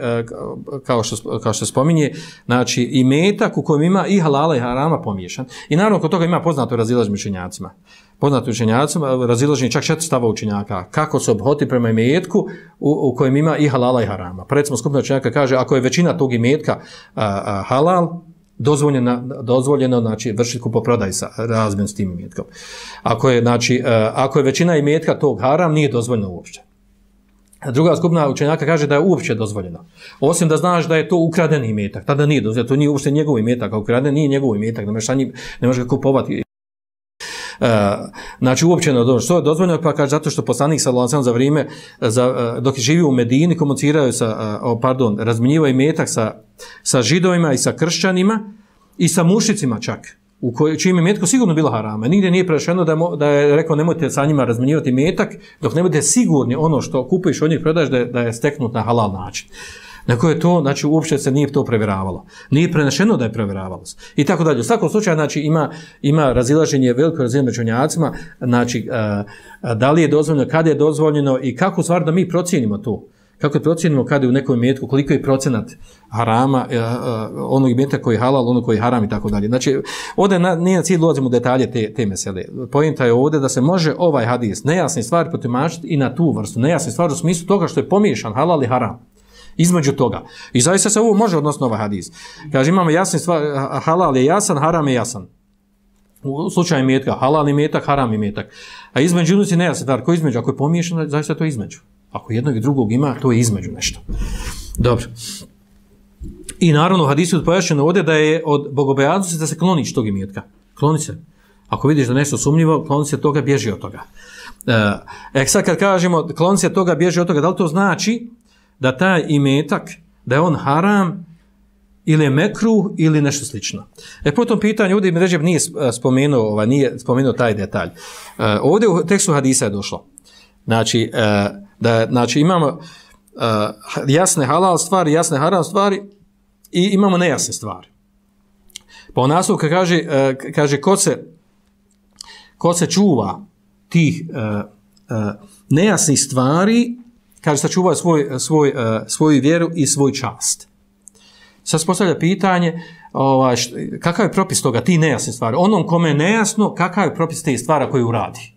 kao što kao što spominje, znači imetak u kojem ima i halala i harama pomiješan. I naravno kod toga ima poznato razilaženje učenjacima. Poznato učenjacima, razilaženje čak četiri stava učenjaka kako se obhoti prema imetku u, u kojem ima i halala i harama. Pa recimo skupina učenjaka kaže ako je većina tog imetka a, a, halal, dozvoljeno, dozvoljeno znači vršiti kupoprodaj sa razmjenom s tim imetkom. Ako je znači ako je većina imetka tog haram, nije dozvoljeno uopće. Druga skupina učenjaka kaže da je uopće dozvoljeno. Osim da znaš da je to ukradeni imetak, tada nije dozvoljeno, to nije uopšte njegov imetak, ako ukraden nije njegov imetak, ne možeš sa njim, ne možeš ga kupovati. Uh, znači uopće ne dozvoljeno. Što je dozvoljeno? Pa kaže zato što poslanik sallallahu alejhi ve sellem za vrijeme za, uh, dok je živio u Medini komunicirao sa uh, oh, pardon, razmjenjivao imetak sa sa židovima i sa kršćanima i sa mušicima čak, u kojoj čijim imetku sigurno bila harama. Nigdje nije prešeno da, mo, da je rekao nemojte sa njima razmjenjivati imetak dok ne budete sigurni ono što kupuješ od njih prodaješ da je, da je steknut na halal način. Neko je to, znači uopće se nije to provjeravalo. Nije prenešeno da je provjeravalo. I tako dalje. U svakom slučaju, znači ima, ima razilaženje, veliko razilaženje među učenjacima, znači uh, da li je dozvoljeno, kada je dozvoljeno i kako stvar da mi procijenimo to. Kako je procijenimo kada je u nekom imetku, koliko je procenat harama, uh, uh, onog imeta koji je halal, ono koji je haram i tako dalje. Znači, ovdje na, nije na cilj ulazimo u detalje te, te mesele. Pojenta je ovdje da se može ovaj hadis nejasne stvari protumačiti i na tu vrstu. Nejasne stvari u smislu toga što je pomiješan halal i haram. Između toga. I zaista se ovo može odnosno ovaj hadis. Kaže, imamo jasne stvari, halal je jasan, haram je jasan. U slučaju imetka, halal imetak, haram imetak. A između unuci nejasne stvari. Ako je između, ako je pomiješano, zaista to je između. Ako jednog i drugog ima, to je između nešto. Dobro. I naravno, u hadisu je pojašnjeno ovdje da je od bogobojaznosti da se kloniš tog imetka. Kloni se. Ako vidiš da nešto sumnjivo, kloni se toga, bježi od toga. E, sad kad kažemo kloni se toga, bježi od toga, da li to znači da taj imetak, da je on haram ili je mekruh ili nešto slično. E po tom pitanju ovdje Ibn Ređeb nije spomenuo, ovaj, nije spomenuo taj detalj. E, ovdje u tekstu hadisa je došlo. Znači, e, da, znači imamo e, jasne halal stvari, jasne haram stvari i imamo nejasne stvari. Pa u naslovu kaže, e, kaže ko se, ko se čuva tih e, e, nejasnih stvari, kaže sačuvaju svoj, svoj, svoju vjeru i svoj čast. Sad se postavlja pitanje, ovaj, št, kakav je propis toga, ti nejasne stvari. Onom kome je nejasno, kakav je propis te stvari koje uradi.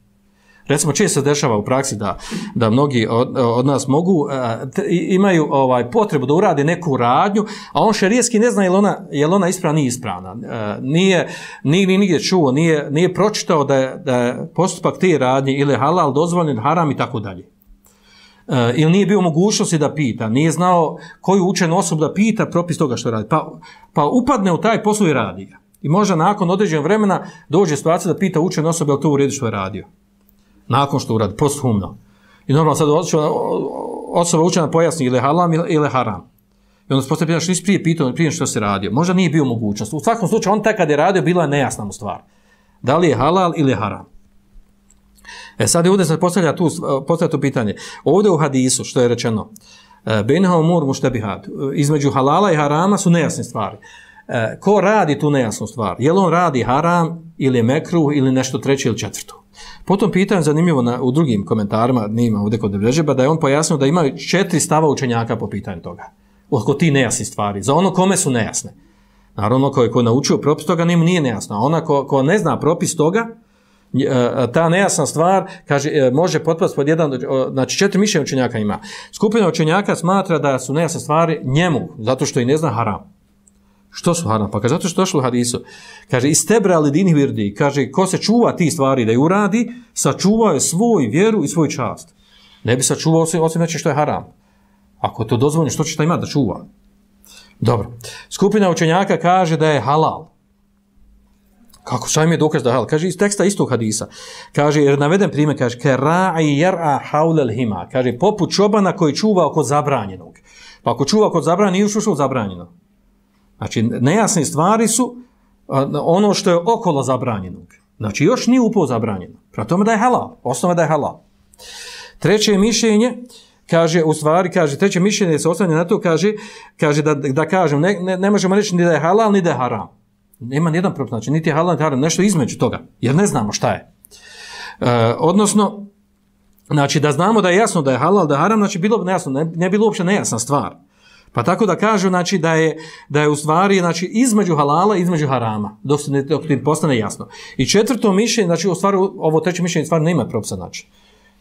Recimo, često se dešava u praksi da, da mnogi od, od nas mogu, t, imaju ovaj, potrebu da urade neku radnju, a on šerijski ne zna je li ona, je li ona ispravna, nije ispravna. Nije, nije nigdje čuo, nije, nije pročitao da je, da je postupak te radnje ili halal, dozvoljen, haram i tako dalje. Uh, ili nije bio mogućnosti da pita, nije znao koju učenu osobu da pita propis toga što radi. Pa, pa upadne u taj posao i radi ga. I možda nakon određenog vremena dođe situacija da pita učenu osobu je li to u redu što je radio. Nakon što uradi, posthumno. I normalno sad osoba učena pojasni ili halam ili haram. I onda se postavlja pitanje što nisi prije pitao, prije što se radio. Možda nije bio mogućnost. U svakom slučaju on taj kad je radio bila je nejasna mu stvar. Da li je halal ili haram. E sad je ovdje se postavlja tu, postavlja tu pitanje. Ovdje u hadisu, što je rečeno, benha umur muštebihat, između halala i harama su nejasne stvari. E, ko radi tu nejasnu stvar? Je li on radi haram ili je mekruh ili nešto treće ili četvrto? Potom pitanje zanimljivo na, u drugim komentarima, nima ovdje kod Ređeba, da je on pojasnio da ima četiri stava učenjaka po pitanju toga. Oko ti nejasni stvari. Za ono kome su nejasne. Naravno, ko je, ko je naučio propis toga, njemu nije nejasno. A ona ko, ko ne zna propis toga, ta nejasna stvar, kaže, može potpasti pod jedan, znači četiri mišljenja učenjaka ima. Skupina učenjaka smatra da su nejasne stvari njemu, zato što i ne zna haram. Što su haram? Pa kaže, zato što došlo u hadisu. Kaže, istebra li dini virdi. Kaže, ko se čuva ti stvari da ju uradi, sačuvao je svoj vjeru i svoj čast. Ne bi sačuvao osim, osim neće što je haram. Ako to dozvoljeno, što će ta imati da čuva? Dobro. Skupina učenjaka kaže da je halal. Kako? Šta im je dokaz da je halal? Kaže, iz teksta istog hadisa. Kaže, jer naveden primjer, kaže, kera'i jer'a haulel hima. Kaže, poput čobana koji čuva oko zabranjenog. Pa ako čuva oko zabranjenog, nije ušao zabranjeno. Znači, nejasne stvari su ono što je okolo zabranjenog. Znači, još nije upao zabranjeno. Prema tome da je halal. Osnova da je halal. Treće mišljenje, kaže, u stvari, kaže, treće mišljenje se oslanja na to, kaže, kaže da, da kažem, ne, ne, ne možemo reći ni da je halal, ni da je haram. Nema nijedan propis, znači, niti je halal, niti haram, nešto između toga, jer ne znamo šta je. E, odnosno, znači, da znamo da je jasno da je halal, da je haram, znači, bilo bi nejasno, ne, ne bilo uopće nejasna stvar. Pa tako da kažu, znači, da je, da je u stvari, znači, između halala i između harama, dok se ne, dok ti postane jasno. I četvrto mišljenje, znači, u stvari, ovo treće mišljenje stvari nema propisa, znači.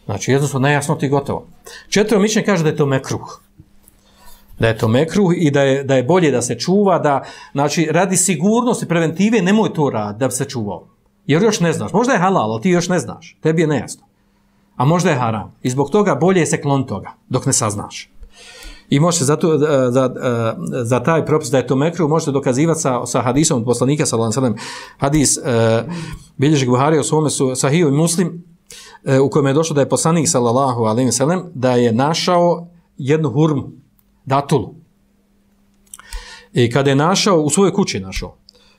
Znači, jednostavno, nejasno ti gotovo. Četvrto mišljenje kaže da je to mekruh. Da je to mekruh i da je, da je bolje da se čuva, da, znači, radi sigurnosti, preventive, nemoj to raditi da bi se čuvao. Jer još ne znaš. Možda je halal, ali ti još ne znaš. Tebi je nejasno. A možda je haram. I zbog toga bolje je se klon toga, dok ne saznaš. I možete zato, za, za, za taj propis da je to mekruh, možete dokazivati sa, sa hadisom od poslanika, sallallahu alejhi ve sellem, hadis uh, bilježi Buharija u svome su Sahiju i Muslim, uh, u kojem je došlo da je poslanik, sallallahu alejhi ve sellem, da je našao jednu hurmu, datulu. I kada je našao, u svojoj kući našao.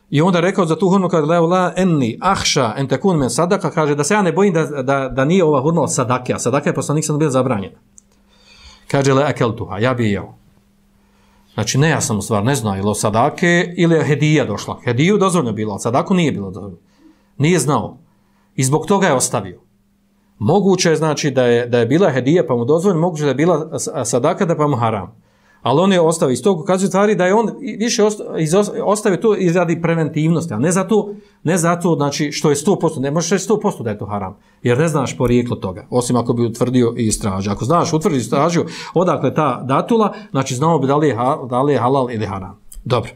I onda rekao za tu hurmu, kaže, la enni ahša en tekun men sadaka, kaže da se ja ne bojim da, da, da nije ova hurma od sadake, a sadaka je poslanik sam bila zabranjena. Kaže, le akeltuha, ja bi jeo. Znači, ne ja sam u stvar, ne znao, ili od sadake, ili je hedija došla. Hediju dozvoljno bilo, ali sadaku nije bilo dozvoljno. Nije znao. I zbog toga je ostavio. Moguće je, znači, da je, da je bila hedija pa mu dozvoljno, moguće da je bila sadaka da pa mu haram. Ali on je ostavio. Iz toga ukazuje stvari da je on više ostavio to i radi preventivnosti, a ne zato, ne zato znači, što je sto posto, ne možeš reći sto posto da je to haram, jer ne znaš porijeklo toga, osim ako bi utvrdio i istražio. Ako znaš, utvrdi i istražio odakle ta datula, znači znamo bi da li je, da li je halal ili haram. Dobro.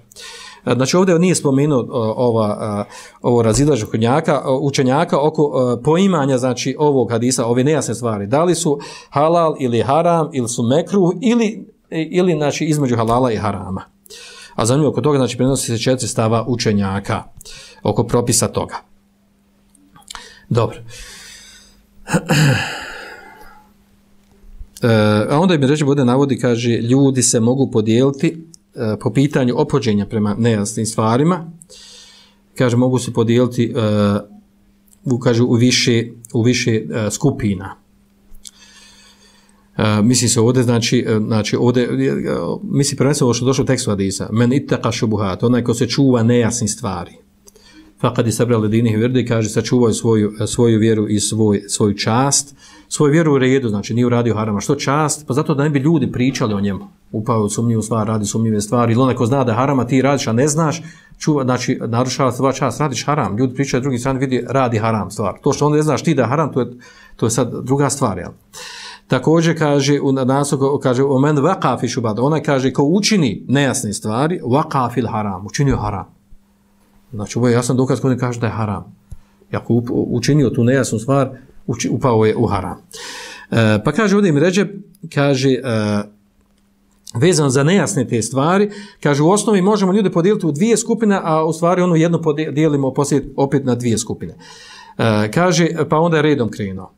Znači ovdje nije spomenuo ova, ovo razilaženje učenjaka, učenjaka oko poimanja, znači ovog hadisa, ove nejasne stvari. Da li su halal ili haram, ili su mekruh, ili ili znači između halala i harama. A zanimljivo oko toga znači prenosi se četiri stava učenjaka oko propisa toga. Dobro. E, a onda mi reći bude navodi, kaže, ljudi se mogu podijeliti e, po pitanju ophođenja prema nejasnim stvarima. Kaže, mogu se podijeliti e, u, kaže, u više, u više e, skupina. Uh, misli se ovdje, znači, znači ovdje, uh, misli prvenstveno što došlo u tekstu hadisa, men ittaqa šubuhat, onaj ko se čuva nejasni stvari. Faqad istabra li dinihi virdi, kaže, sačuvao svoju, svoju vjeru i svoj, svoju čast, svoju vjeru u redu, znači nije uradio harama. Što čast? Pa zato da ne bi ljudi pričali o njemu. Upao u sumnjivu stvar, radi sumnjive stvari, ili onaj ko zna da je harama, ti radiš, a ne znaš, čuva, znači, narušava tvoja čast, radiš haram. Ljudi pričaju drugi strani, vidi, radi haram stvar. To što onda ne znaš ti da je haram, to je, to je sad druga stvar, jel? Također kaže u naslov kaže o men waqa fi shubhat, ona kaže ko učini nejasne stvari, waqa fil haram, učinio haram. Znači ovo je jasan dokaz koji kaže da je haram. Ako učinio tu nejasnu stvar, uči, upao je u haram. E, pa kaže ovdje im ređe, kaže e, vezano za nejasne te stvari, kaže u osnovi možemo ljude podijeliti u dvije skupine, a u stvari onu jednu podijelimo poslije opet na dvije skupine. E, kaže pa onda je redom krenuo.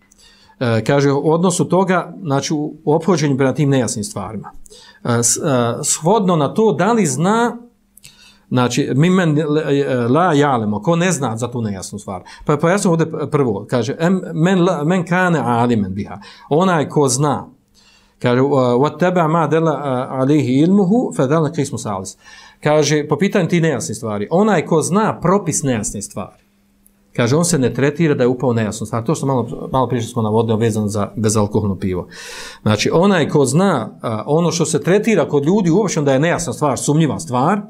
E, kaže, u odnosu toga, znači, u ophođenju prema tim nejasnim stvarima. E, s, e, shodno na to, da li zna, znači, mi men la jalemo, ko ne zna za tu nejasnu stvar. Pa, pa ja sam ovdje prvo, kaže, men, la, men kane alimen biha, onaj ko zna, kaže, wat teba ma dela alihi ilmuhu, fedalna kismu salis. Kaže, po pitanju ti nejasni stvari, onaj ko zna propis nejasne stvari, kaže, on se ne tretira da je upao nejasno stvar. To što malo, malo prije smo navodili vezano za bezalkoholno pivo. Znači, onaj ko zna a, ono što se tretira kod ljudi uopšte da je nejasna stvar, sumnjiva stvar,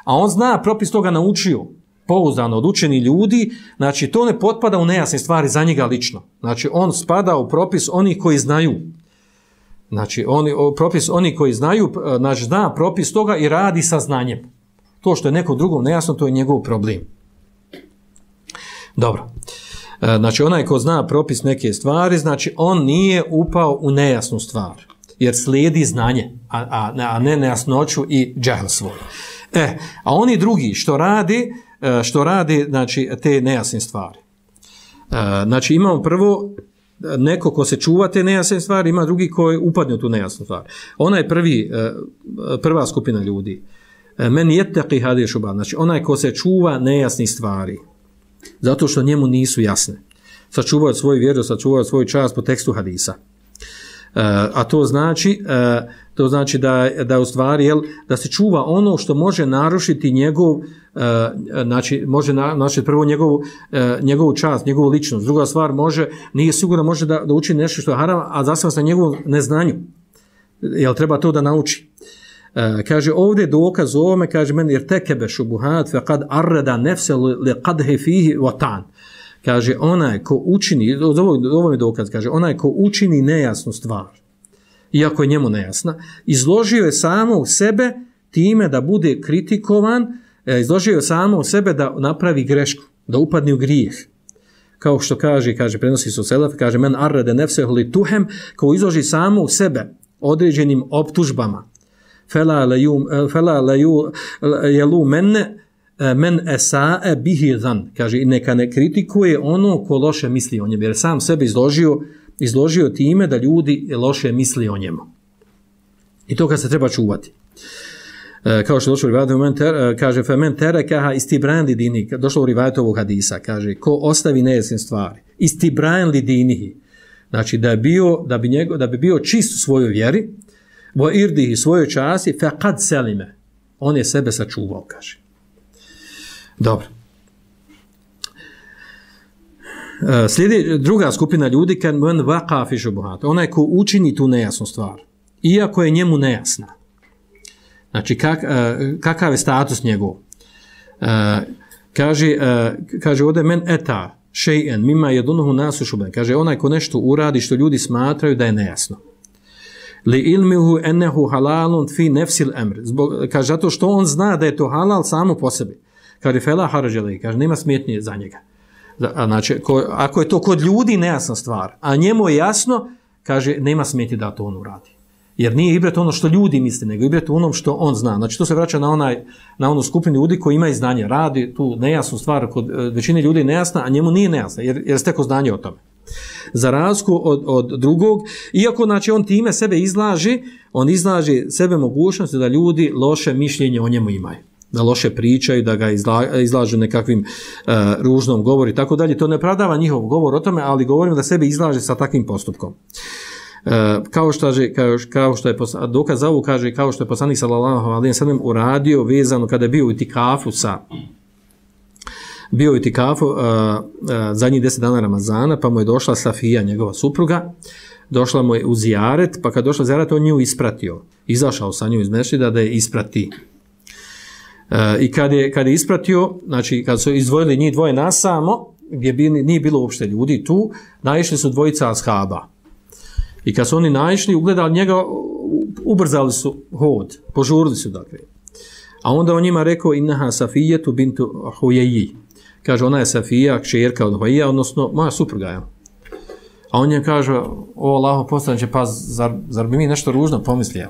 a on zna propis toga naučio, pouzdano od učenih ljudi, znači to ne potpada u nejasne stvari za njega lično. Znači, on spada u propis onih koji znaju. Znači, oni, propis oni koji znaju, znači, zna propis toga i radi sa znanjem. To što je neko drugom nejasno, to je njegov problem. Dobro. Znači, onaj ko zna propis neke stvari, znači, on nije upao u nejasnu stvar. Jer slijedi znanje, a, a, a ne nejasnoću i džahl svoj. E, a oni drugi što radi, što radi, znači, te nejasne stvari. Znači, imamo prvo neko ko se čuva te nejasne stvari, ima drugi koji upadne u tu nejasnu stvar. Ona je prvi, prva skupina ljudi. Men yettaqi hadihi šubhat, znači onaj ko se čuva nejasnih stvari, zato što njemu nisu jasne. Sačuvaju svoju vjeru, sačuvaju svoj čast po tekstu hadisa. A to znači, to znači da, da u stvari, jel, da se čuva ono što može narušiti njegov, znači, može narušiti prvo njegovu, njegovu čast, njegovu ličnost. Druga stvar, može, nije sigurno može da, da učini nešto što je haram, a zasva se na njegovom neznanju. Jel treba to da nauči? Kaže, ovdje dokaz o ovome, kaže, men jer tekebe šubuhat, fe kad arreda nefse li kadhe fihi vatan. Kaže, onaj ko učini, ovo je dokaz, kaže, onaj ko učini nejasnu stvar, iako je njemu nejasna, izložio je samo u sebe time da bude kritikovan, izložio je samo u sebe da napravi grešku, da upadne u grijeh. Kao što kaže, kaže, prenosi se u selef, kaže, men arrede nefse li tuhem, ko izloži samo u sebe određenim optužbama, fela la jelu menne, men esae bihi zan, kaže, i neka ne kritikuje ono ko loše misli o njemu, jer sam sebe izložio, izložio time da ljudi loše misli o njemu. I to kad se treba čuvati. E, kao što je došlo u rivajetu, kaže, fe men terekaha istibran li dinihi, došlo u rivajetu ovog hadisa, kaže, ko ostavi nejasne stvari, istibran li dinihi, znači da, je bio, da, bi njego, da bi bio čist u svojoj vjeri, vo irdihi svojoj časti, fe kad selime, on je sebe sačuvao, kaže. Dobro. Slijedi druga skupina ljudi, kad men vaqa fi šubuhat, onaj ko učini tu nejasnu stvar, iako je njemu nejasna. Znači, kak, kakav je status njegov? Kaže, kaže ovdje, men eta še'en mima jedunuhu nasu šuben. Kaže, onaj ko nešto uradi što ljudi smatraju da je nejasno. Li ilmihu ennehu halalun fi nefsil emr. Zbog, kaže, zato što on zna da je to halal samo po sebi. Kaže, fela harađele, kaže, nema smetnje za njega. Znači, ko, ako je to kod ljudi nejasna stvar, a njemu je jasno, kaže, nema smetnje da to on uradi. Jer nije ibret ono što ljudi misle, nego ibret onom što on zna. Znači, to se vraća na, onaj, na onu skupinu ljudi koji imaju znanje, radi tu nejasnu stvar, kod većine ljudi je nejasna, a njemu nije nejasna, jer, jer steko znanje o tome. Za razliku od, od drugog, iako znači, on time sebe izlaži, on izlaži sebe mogućnosti da ljudi loše mišljenje o njemu imaju. Da loše pričaju, da ga izla, izlažu nekakvim uh, ružnom govoru i tako dalje. To ne pravdava njihov govor o tome, ali govorim da sebe izlaže sa takvim postupkom. Uh, kao, što je, kao, kao što je dokaz za ovu, kaže, kao što je poslanik sallallahu alejhi ve sellem uradio vezano kada je bio u itikafu sa bio u itikafu uh, uh, zadnjih deset dana Ramazana, pa mu je došla Safija, njegova supruga, došla mu je u zijaret, pa kad došla zijaret, on nju ispratio. Izašao sa nju iz mešćida da je isprati. Uh, I kad je, kad je ispratio, znači kad su izdvojili njih dvoje nasamo, gdje bi, nije bilo uopšte ljudi tu, naišli su dvojica ashaba. I kad su oni naišli, ugledali njega, ubrzali su hod, požurili su dakle. A onda on njima rekao, innaha Safijetu bintu Hujeji. Kaže, ona je Safija, kćerka od Hujeja, odnosno moja supruga je. A on njim kaže, o Allaho poslaniče, pa zar, zar bi mi nešto ružno pomislio?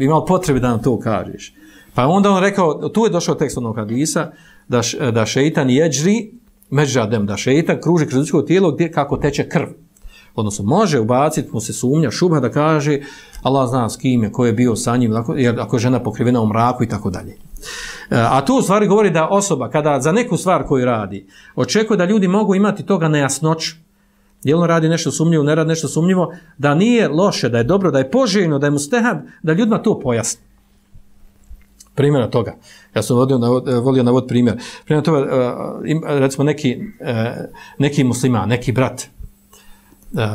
Imao potrebe da nam to kažeš. Pa onda on rekao, tu je došao tekst onog hadisa, da, š, da šeitan jeđri, međadem, da šeitan kruži kroz ljudsko tijelo gdje kako teče krv. Odnosno, može ubaciti mu se sumnja, šubha da kaže, Allah zna s kim je, ko je bio sa njim, jer ako je žena pokrivena u mraku i tako dalje. A tu u stvari govori da osoba, kada za neku stvar koju radi, očekuje da ljudi mogu imati toga nejasnoću, jel on radi nešto sumnjivo, ne radi nešto sumnjivo, da nije loše, da je dobro, da je poželjno, da je mustehab, da ljudima to pojasni. primjera toga. Ja sam volio navod, volio navod primjer. Primjer toga, recimo neki, neki musliman, neki brat,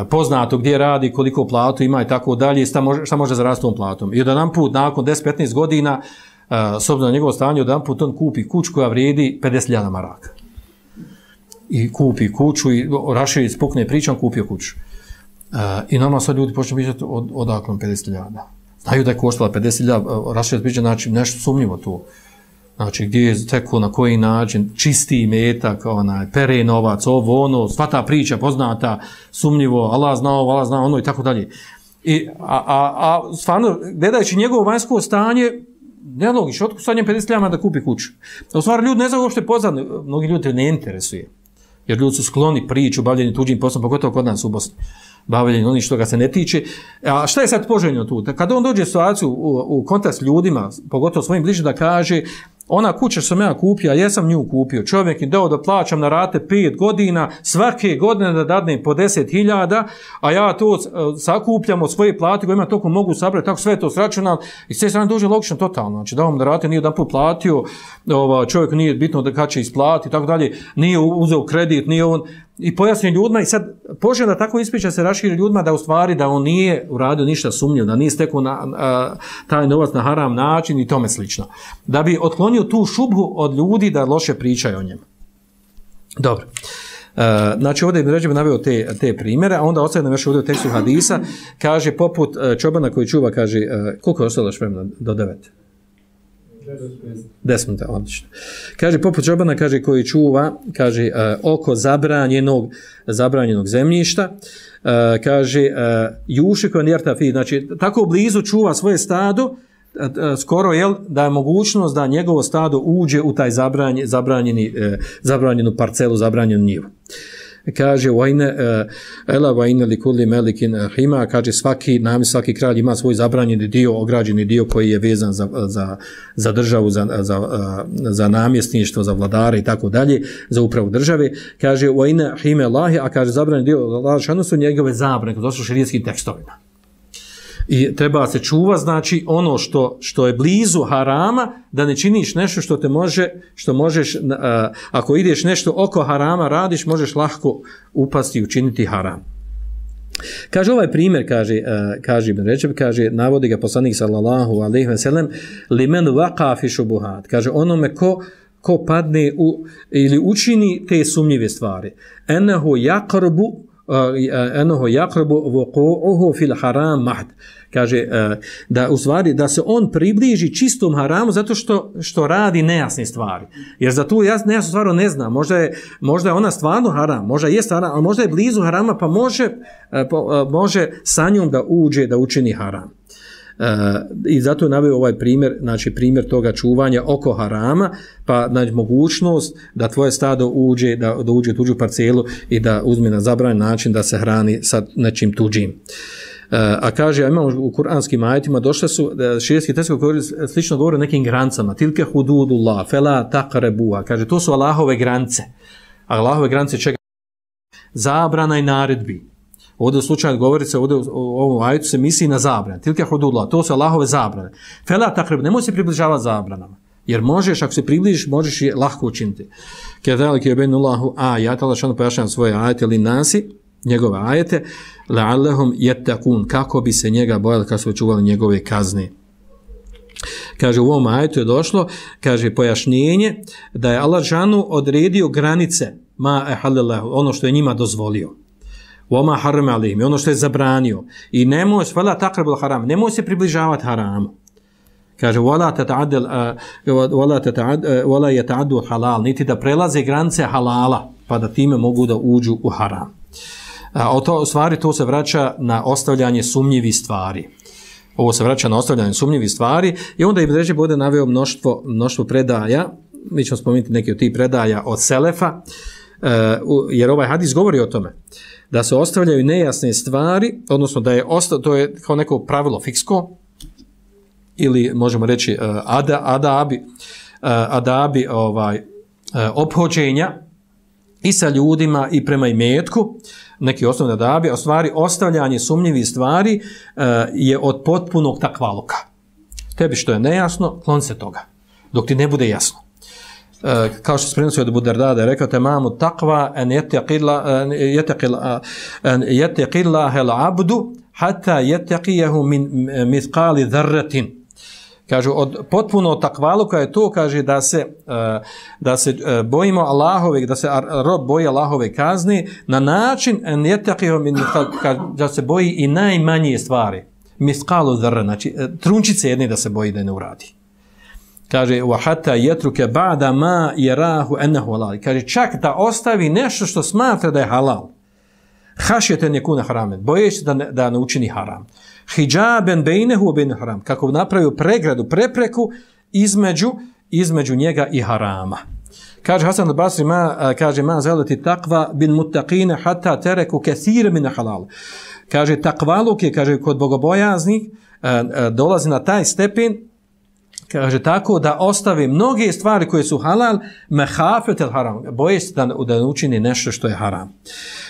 poznato gdje radi, koliko platu ima i tako dalje, šta može, šta može zaraditi tom platom. I jedan put, nakon deset do petnaest godina, s obzirom na njegovo stanje, jedan put on kupi kuću koja vrijedi pedeset hiljada maraka. I kupi kuću i raširi spukne pričam, kupio kuću. I normalno sad ljudi počne pričati od, odakle pedeset hiljada. Znaju da je koštala pedeset hiljada, raširi priča, znači nešto sumnjivo tu. Znači gdje je teko, na koji način, čisti metak, onaj, pere novac, ovo, ono, sva ta priča poznata, sumnjivo, Allah zna ovo, Allah zna ono i tako dalje. I, a, a, a stvarno, gledajući njegovo vanjsko stanje, nelogično, otko sad njem pedeset hiljada da kupi kuću. U stvari, ljudi ne znaju uopšte poznat, mnogi ljudi ne interesuje. Jer ljudi su skloni priču, bavljeni tuđim poslom, pogotovo kod nas u Bosni. Bavljeni onih što ga se ne tiče. A šta je sad poželjno tu? Kada on dođe u situaciju u, u kontakt s ljudima, pogotovo svojim bližim, da kaže ona kuća što sam ja kupio, ja sam nju kupio, čovjek je dao da plaćam na rate pet godina, svake godine da dadnem po deset hiljada, a ja to sakupljam od svoje plati, koja ima toliko mogu sabrati, tako sve to sračunam, i sve strane dođe logično totalno, znači da vam na rate nije jedan put platio, ova, čovjek nije bitno da kad će isplati, tako dalje, nije uzeo kredit, nije on, i pojasni ljudima, i sad poželjno da tako ispriča se raširi ljudima da u stvari da on nije uradio ništa sumnjivo, da nije stekao na, a, taj novac na haram način i tome slično. Da bi otklonio tu šubhu od ljudi da loše pričaju o njemu. Dobro. E, znači ovdje Ibn Redžeb naveo te, te primjere, a onda ostaje nam još ovdje u tekstu hadisa, kaže poput čobana koji čuva, kaže, koliko je ostalo još vremena do devet? Deset minuta, odlično. Kaže, poput čobana, kaže, koji čuva, kaže, uh, oko zabranjenog, zabranjenog zemljišta, uh, kaže, uh, juši koji njerta fi, znači, tako blizu čuva svoje stado, uh, uh, skoro, jel, da je mogućnost da njegovo stado uđe u taj zabranje, zabranjeni, uh, zabranjenu parcelu, zabranjenu njivu. Kaže vajne ela vajne li kulli melikin hima, kaže svaki nam svaki kralj ima svoj zabranjeni dio, ograđeni dio koji je vezan za, za, za državu, za, za, za namjesništvo, za vladare i tako dalje, za upravu države. Kaže vajne hime lahi, a kaže zabranjeni dio Allah su njegove zabrane, to su šerijskim tekstovima. I treba se čuva, znači ono što, što je blizu harama, da ne činiš nešto što te može, što možeš, a, ako ideš nešto oko harama radiš, možeš lahko upasti i učiniti haram. Kaže ovaj primjer, kaže, uh, kaže Ibn Redžeb, kaže, navodi ga poslanik sallallahu alejhi ve sellem, limen waqa fi šubuhat, kaže onome ko, ko padne u, ili učini te sumnjive stvari, enahu yaqrabu enoho jakrobu vuqu'uhu fil haram mahd, kaže da u stvari da se on približi čistom haramu zato što što radi nejasne stvari, jer za tu nejasnu stvar ne zna, možda je možda je ona stvarno haram, možda je haram, a možda je blizu harama, pa može može sa njom da uđe da učini haram. Uh, i zato je naveo ovaj primjer, znači primjer toga čuvanja oko harama, pa znači mogućnost da tvoje stado uđe, da, da uđe u tuđu parcelu i da uzme na zabranjen način da se hrani sa nečim tuđim. Uh, a kaže, a imamo u kuranskim ajetima, došle su, širijski tekst koji slično govore o nekim granicama, tilke hududullah, fela taqrabuha, kaže, to su Allahove granice. A Allahove granice čega? Zabrana i naredbi. Ovdje u slučaju govori se, ovdje u ovom ajetu se misli na zabrane. Tilke hududullah, to su Allahove zabrane. Fela taqrab, nemoj se približavati zabranama. Jer možeš, ako se približiš, možeš je lahko učiniti. Kedalike yubayyinullahu ayat, Allah šano pojašnjava svoje ajete li nasi, njegove ajete, la'allahum yattaqun, kako bi se njega bojali, kako su čuvali njegove kazne. Kaže, u ovom ajetu je došlo, kaže, pojašnjenje da je Allah šano odredio granice, ma ehalillahu, ono što je njima dozvolio. Wama harama alejhim, ono što je zabranio. I nemoj fala taqrabul haram, nemoj se približavati haramu. Kaže wala tata'addal wala tata'ad wala yata'addu halal, niti da prelaze granice halala, pa da time mogu da uđu u haram. A to u stvari to se vraća na ostavljanje sumnjivih stvari. Ovo se vraća na ostavljanje sumnjivih stvari i onda Ibn Redžeb bude naveo mnoštvo mnoštvo predaja. Mi ćemo spomenuti neke od tih predaja od selefa, jer ovaj hadis govori o tome da se ostavljaju nejasne stvari, odnosno da je osta, to je kao neko pravilo fiksko, ili možemo reći uh, ada, adabi, uh, adabi ovaj, uh, ophođenja i sa ljudima i prema imetku, neki osnovni adabi, a stvari ostavljanje sumnjivih stvari uh, je od potpunog takvaluka. Tebi što je nejasno, klon se toga. dok ti ne bude jasno. Uh, kao što se prenosio od Abu Darda da je rekao tamamu taqwa an yattaqilla yattaqilla an yattaqilla al abdu hatta yattaqiyahu min mithqali dharratin. Kaže od potpuno takvaluka je to, kaže da se uh, da se uh, bojimo Allahove, da se rob boji Allahove kazne na način an yattaqiyahu min da se boji i najmanje stvari. Mithqalu dharra, znači trunčice jedne da se boji da ne uradi. Kaže wa hatta yatruka ba'da ma yarahu annahu halal. Kaže čak da ostavi nešto što smatra da je halal. Hašjeten yakuna haraman. Bojeći da ne, da ne učini haram. Hijaben bejnehu wa bejne haram. Kako napravio pregradu, prepreku između između njega i harama. Kaže Hasan al-Basri ma kaže ma zalati taqwa bin muttaqin hatta taraku kathira min halal. Kaže takvaluk je, kaže kod bogobojaznih dolazi na taj stepen, kaže tako da ostavi mnoge stvari koje su halal, mehafetel haram, boje se da, da učini nešto što je haram.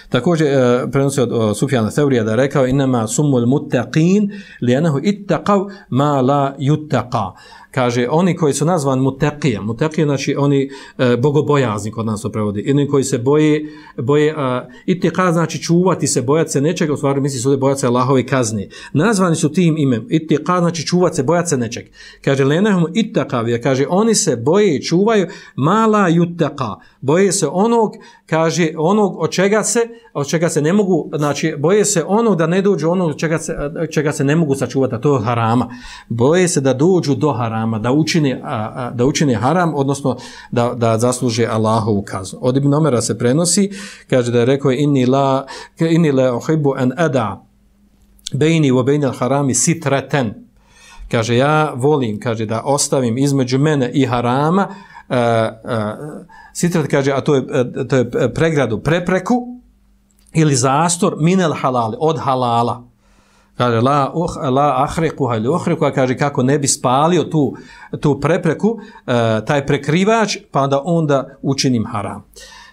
Također e, prenosi od, od Sufjana Theurija da je rekao inama sumul muttaqin lijenahu ittaqav ma la yuttaqa. Kaže, oni koji su nazvan mutaqija, mutaqija znači oni e, bogobojazni kod nas to prevodi, oni koji se boje, boje ittiqa znači čuvati se, bojati se nečega, u stvari misli se ovdje bojati se Allahove kazne. Nazvani su tim imem, ittiqa znači čuvati se, bojati se nečeg. Kaže, lenahum ittaqavija, kaže, oni se boje i čuvaju mala yuttaqa, boje se onog, kaže, onog od čega se, od čega se ne mogu, znači, boje se onog da ne dođu onog od čega se, čega se ne mogu sačuvati, a to je harama. Boje se da dođu do harama, da učini, a, da učini haram, odnosno da, da zasluže Allahovu kaznu. Od Ibn Omera se prenosi, kaže da je rekao inni la, inni la uhibbu an ada bejni wa bejni al-harami sitraten. Kaže, ja volim, kaže, da ostavim između mene i harama uh, uh, sitrat, kaže, a to je, uh, to je pregradu, prepreku ili zastor minel halali, od halala. Kaže, la, uh, la ahreku ili uhreku, kaže, kako ne bi spalio tu, tu prepreku, uh, taj prekrivač, pa da onda učinim haram.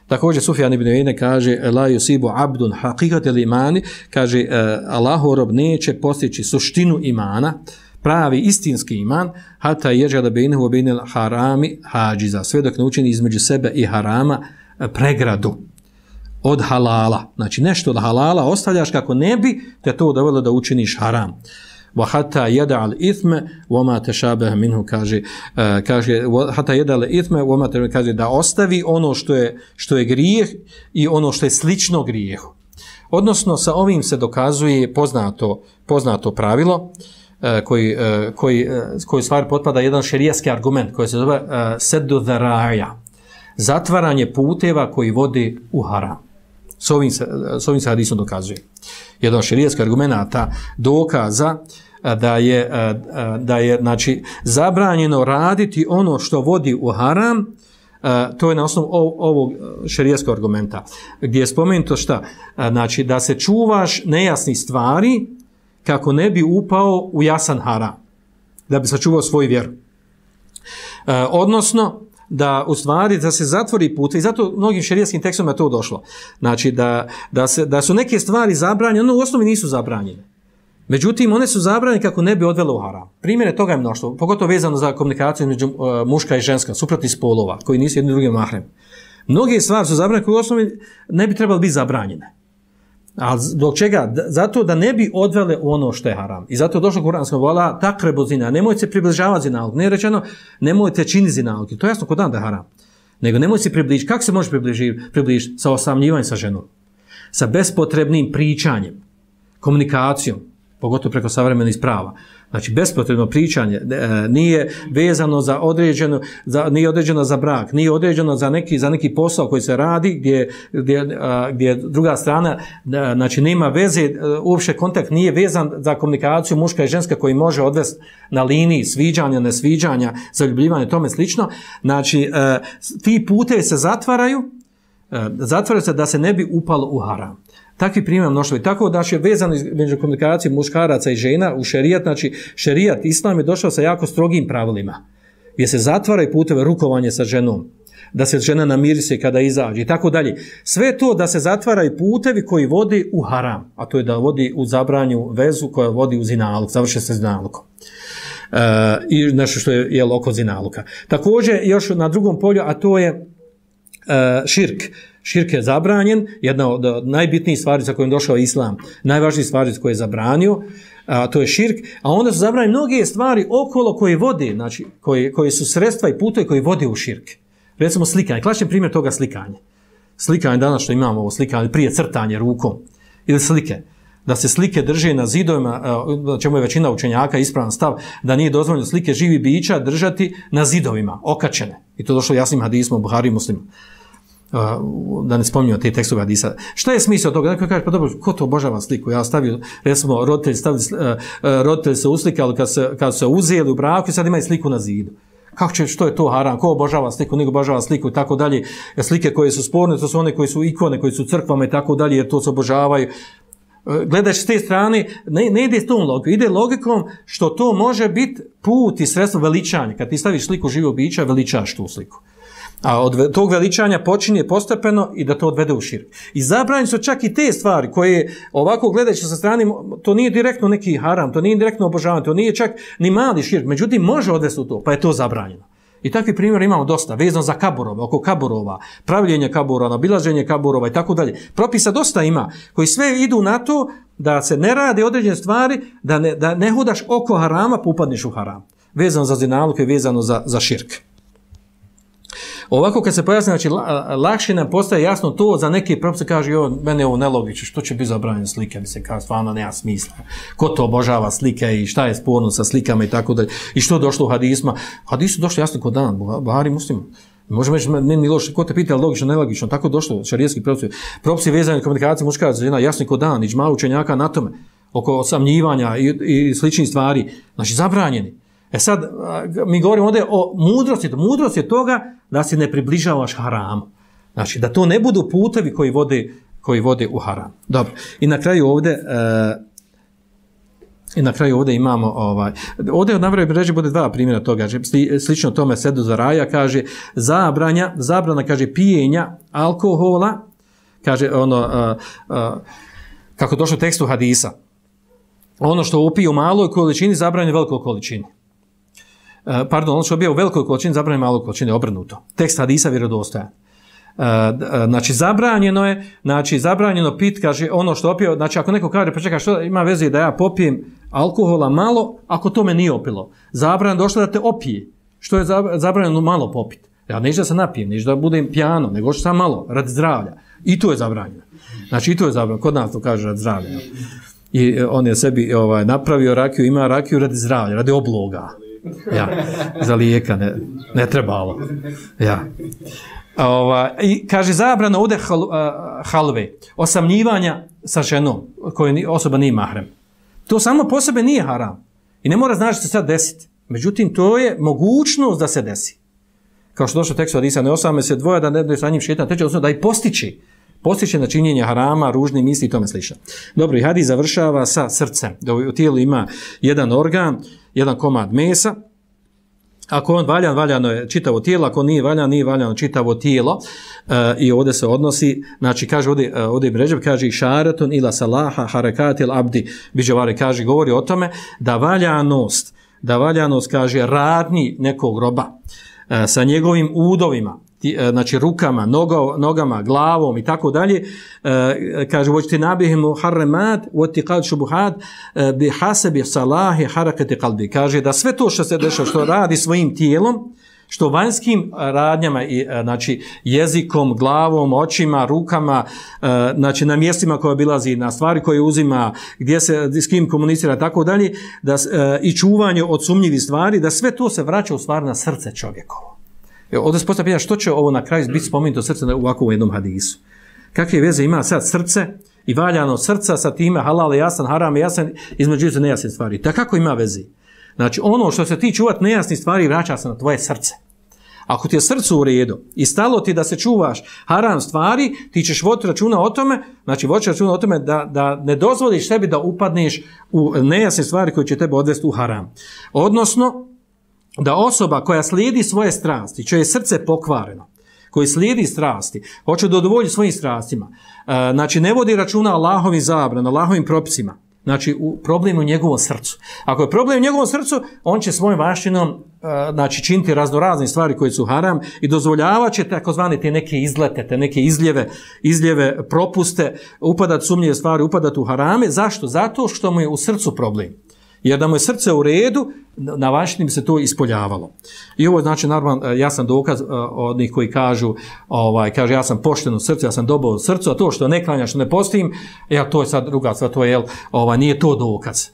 Također Sufjan ibn Uyeyne kaže la yusibu abdun haqiqatal imani, kaže, uh, Allahov rob neće postići suštinu imana, pravi istinski iman, hata jeđala bejnehu bejnel harami hađiza, sve dok ne učini između sebe i harama pregradu od halala. Znači nešto od halala ostavljaš kako ne bi te to dovelo da učiniš haram. Wa hata yada al ithme wa ma tashabaha minhu, kaže uh, kaže hata yada al ithme wa ma, kaže da ostavi ono što je što je grijeh i ono što je slično grijehu. Odnosno sa ovim se dokazuje poznato poznato pravilo koji, koji, koji stvari potpada jedan šerijski argument koji se zove uh, seddu dharaja, zatvaranje puteva koji vode u haram. S ovim se, s ovim se hadisom dokazuje. Jedan šerijski argumenta dokaza da je, da je znači, zabranjeno raditi ono što vodi u haram, to je na osnovu ovog šerijskog argumenta, gdje je spomenuto šta? Znači, da se čuvaš nejasnih stvari kako ne bi upao u jasan haram, da bi sačuvao svoju vjeru. E, odnosno, da u stvari da se zatvori put, i zato mnogim šerijskim tekstovima je to došlo. Znači, da, da, se, da su neke stvari zabranjene, ono u osnovi nisu zabranjene. Međutim, one su zabranjene kako ne bi odvele u haram. Primjere toga je mnoštvo, pogotovo vezano za komunikaciju među uh, muška i ženska, suprotnih spolova, koji nisu jedni drugi mahrem. Mnoge stvari su zabranjene koje u osnovi ne bi trebali biti zabranjene. A zbog čega? Zato da ne bi odvele u ono što je haram. I zato je došlo kuransko vola takrebu zina. Nemojte se približavati zinalog. Ne je rečeno nemojte činiti zinalog. To je jasno kod dan da je haram. Nego nemojte se približiti. Kako se može približiti? Približiti sa osamljivanjem sa ženom. Sa bespotrebnim pričanjem. Komunikacijom. Pogotovo preko savremenih sprava. Znači, bespotrebno pričanje e, nije vezano za određeno, za, nije određeno za brak, nije određeno za neki, za neki posao koji se radi, gdje, gdje, a, gdje druga strana, a, znači, nema veze, a, uopšte kontakt nije vezan za komunikaciju muška i ženska koji može odvesti na liniji sviđanja, nesviđanja, zaljubljivanja, tome slično. Znači, a, ti putevi se zatvaraju, a, zatvaraju se da se ne bi upalo u haram. Takvi primjer mnoštvo. I tako da je vezano među komunikacijom muškaraca i žena u šerijat, znači šerijat, islam je došao sa jako strogim pravilima, gdje se zatvaraju puteve rukovanje sa ženom, da se žena namiri se kada izađe i tako dalje. Sve to da se zatvaraju putevi koji vodi u haram, a to je da vodi u zabranju vezu koja vodi u zinalog, završe se zinalogom. Uh, I nešto što je, je oko zinaluka. Također, još na drugom polju, a to je uh, širk. Širk je zabranjen, jedna od najbitnijih stvari za kojim došao Islam, najvažnijih stvari za koje je zabranio, a to je širk, a onda su zabranjene mnoge stvari okolo koje vode, znači koje, koje su sredstva i putovi koji vode u širk. Recimo slikanje, klasičan primjer toga slikanje. Slikanje danas što imamo ovo slikanje, prije crtanje rukom ili slike. Da se slike drže na zidovima, čemu je većina učenjaka ispravan stav, da nije dozvoljeno slike živi bića držati na zidovima, okačene. I to došlo jasnim hadismom u Buhari i Muslimu. Da ne spominjamo te tekstove hadisa. Šta je smisao toga? Dakle, kaže, pa dobro, ko to obožava sliku? Ja stavio, recimo, roditelji, stavili, roditelji se uslikali kad se, kad se uzeli u braku i sad imaju sliku na zidu. Kako će, što je to haram? Ko obožava sliku? Nego obožava sliku i tako dalje. Slike koje su sporne, to su one koje su ikone, koje su crkvama i tako dalje, jer to se obožavaju. Gledaš s te strane, ne, ne ide s tom logikom, ide logikom što to može biti put i sredstvo veličanja. Kad ti staviš sliku živog bića, veličaš tu sliku. A od tog veličanja počinje postepeno i da to odvede u širk. I zabranjeni su čak i te stvari koje ovako gledajući sa strane, to nije direktno neki haram, to nije direktno obožavanje, to nije čak ni mali širk, međutim može odvesti u to, pa je to zabranjeno. I takvi primjer imamo dosta, vezano za kaburove, oko kaburova, pravljenje kaburova, obilaženje kaburova i tako dalje. Propisa dosta ima, koji sve idu na to da se ne rade određene stvari, da ne, da ne hodaš oko harama, pa upadneš u haram. Vezano za zinaluk i vezano za, za širk. Ovako kad se pojasni, znači lakše nam postaje jasno to, za neke propise kaže, jo, mene je ovo nelogično, što će biti zabranjeno slike, mi se kaže, stvarno nema smisla. Ko to obožava slike i šta je sporno sa slikama i tako dalje. I što je došlo u hadisma? Hadisu došlo jasno kod dan, Buhari Muslim. Možemo reći, ne ni loše, ko te pita, logično, nelogično, tako došlo, šarijski propisi. Propisi vezani na komunikaciju muškaraca, žena, jasno kod dan, iđma učenjaka na tome, oko osamnjivanja i, i sličnih stvari, znači zabranjeni. E sad, mi govorimo ovdje o mudrosti. Mudrost je toga da se ne približavaš haramu. Znači, da to ne budu putevi koji vode, koji vode u haram. Dobro. I na kraju ovdje, e, i na kraju ovdje imamo, ovaj, ovdje od navrve reći bude dva primjera toga. Slično tome Sedu Zaraja kaže, zabranja, zabrana, kaže, pijenja alkohola, kaže, ono, a, a, kako došlo u tekstu hadisa, ono što upije u maloj količini, zabranje u velikoj količini. Pardon, ono što je u velikoj količini, zabranjeno maloj količini, obrnuto. Tekst hadisa vjerodostojan. Znači, zabranjeno je, znači, zabranjeno pit, kaže, ono što opio, znači, ako neko kaže, pa čekaj, što ima veze da ja popijem alkohola malo, ako to me nije opilo. Zabranjeno došlo da te opije. Što je zabranjeno malo popiti? Ja neću da se napijem, neću da budem pijano, nego što sam malo, radi zdravlja. I to je zabranjeno. Znači, i to je zabranjeno. Kod nas to kaže radi zdravlja. I on je sebi ovaj, napravio rakiju, ima rakiju radi zdravlja, radi obloga. Ja, za lijeka ne, ne trebalo. Ja. Ova, i kaže zabrana ovdje hal, uh, halve, osamljivanja sa ženom koje osoba nije mahrem. To samo po sebe nije haram. I ne mora znači se sad desiti. Međutim, to je mogućnost da se desi. Kao što došlo tekst od Isa, ne osame se dvoje da ne da sa njim šetan, teče odnosno da i postići. Postiće na činjenje harama, ružni misli i tome slično. Dobro, i hadis završava sa srcem. Da u tijelu ima jedan organ, jedan komad mesa. Ako on valjan, valjano je čitavo tijelo, ako nije valjan, nije valjano čitavo tijelo. E, I ovdje se odnosi, znači kaže ovdje, ovdje Ibn Ređeb kaže išaretun ila salaha harakatil abdi biđevari, kaže, govori o tome da valjanost, da valjanost, kaže, radnji nekog roba e, sa njegovim udovima, znači rukama, nogo, nogama, glavom i tako dalje, kaže voćte nabihimu harremat votiqad shubuhat bi hasabi salahi harakati qalbi, kaže da sve to što se dešava, što radi svojim tijelom, što vanjskim radnjama, znači jezikom, glavom, očima, rukama, znači na mjestima koje obilazi, na stvari koje uzima, gdje se s kim komunicira, tako dalje, da i čuvanje od sumnjivih stvari, da sve to se vraća u stvari na srce čovjekovo. Ovdje se postavlja što će ovo na kraju biti spomenuto srce u ovakvom jednom hadisu. Kakve veze ima sad srce i valjano srca sa time halal jasan, haram jasan, između se nejasne stvari. Da kako ima veze? Znači ono što se ti čuvat nejasnih stvari vraća se na tvoje srce. Ako ti je srce u redu i stalo ti da se čuvaš haram stvari, ti ćeš voditi računa o tome, znači voditi računa o tome da, da ne dozvoliš sebi da upadneš u nejasne stvari koje će tebe odvesti u haram. Odnosno, da osoba koja slijedi svoje strasti, čije je srce pokvareno, koji slijedi strasti, hoće da udovolji svojim strastima, znači ne vodi računa Allahovim zabranama, Allahovim propisima, Znači, u, problem u njegovom srcu. Ako je problem u njegovom srcu, on će svojom vanštinom uh, znači, činiti raznorazne stvari koje su haram i dozvoljavat će takozvane te neke izlete, te neke izljeve, izljeve, propuste, upadat sumnjive stvari, upadat u harame. Zašto? Zato što mu je u srcu problem. Jer da mu je srce u redu, na vanštini bi se to ispoljavalo. I ovo je znači normalno jasan dokaz uh, od njih koji kažu, ovaj, kaže ja sam pošten u srcu, ja sam dobar u srcu, a to što ne klanjaš, što ne postim, ja, to je sad druga stvar, to je, jel, ovaj, nije to dokaz.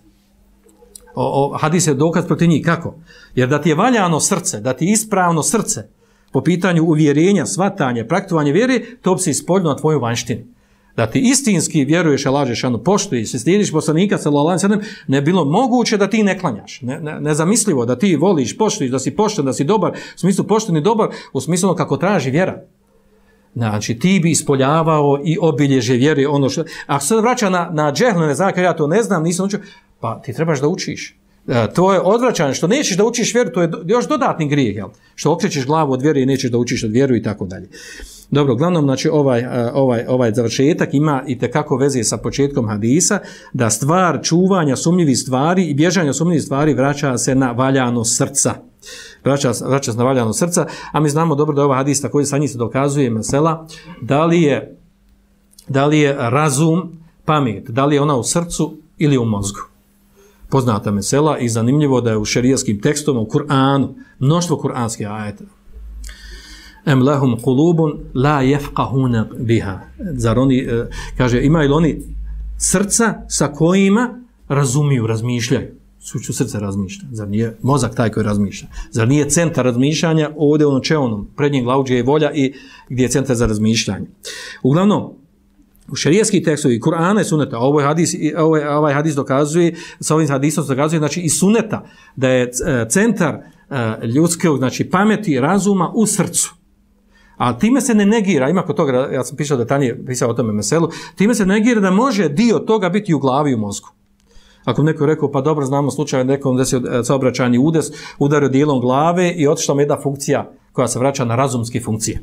O, o, hadis je dokaz protiv njih. Kako? Jer da ti je valjano srce, da ti je ispravno srce po pitanju uvjerenja, svatanja, praktikovanja vjere, to bi se ispoljilo na tvoju vanštini. Da ti istinski vjeruješ, Allah dželešanu, poštuješ, se slijediš poslanika sallallahu alejhi ve sellem, ne bilo moguće da ti ne klanjaš. Ne, ne, nezamislivo da ti voliš, poštuješ, da si pošten, da si dobar, u smislu pošten i dobar, u smislu kako traži vjera. Znači, ti bi ispoljavao i obilježje vjere, ono što... A sad vraća na, na džehl, ne znam, ja to ne znam, nisam učio, pa ti trebaš da učiš. E, to je odvraćanje, što nećeš da učiš vjeru, to je do, još dodatni grijeh, jel? Što okrećeš glavu od vjere i nećeš da učiš od vjeru i tako dalje. Dobro, uglavnom, znači, ovaj, ovaj, ovaj završetak ima i tekako veze sa početkom hadisa, da stvar čuvanja sumnjivih stvari i bježanja sumnjivih stvari vraća se na valjano srca. Vraća, vraća se na valjano srca, a mi znamo dobro da je ovaj hadis također sa njih se dokazuje mesela, da li je, da li je razum, pamet, da li je ona u srcu ili u mozgu. Poznata mesela i zanimljivo da je u šerijskim tekstovima, u Kur'anu, mnoštvo kur'anskih ajeta. Em lahum kulubun la yafqahuna biha. Zar oni, kaže, imaju li oni srca sa kojima razumiju, razmišljaju? Suću srce razmišlja. Zar nije mozak taj koji razmišlja? Zar nije centar razmišljanja ovdje u nočeonom, prednjem glavu gdje je volja i gdje je centar za razmišljanje? Uglavnom, u šerijskih tekstovi, Kur'ana i Suneta, ovaj hadis, ovaj, ovaj hadis dokazuje, sa ovim hadisom se dokazuje, znači i Suneta, da je centar ljudskog, znači pameti, razuma u srcu. A time se ne negira, ima kod toga, ja sam pisao detaljnije, pisao o tome meselu, time se negira da može dio toga biti u glavi i u mozgu. Ako neko je rekao, pa dobro, znamo slučaj nekom desio saobraćajni udes, udario dijelom glave i otišla mu jedna funkcija koja se vraća na razumske funkcije.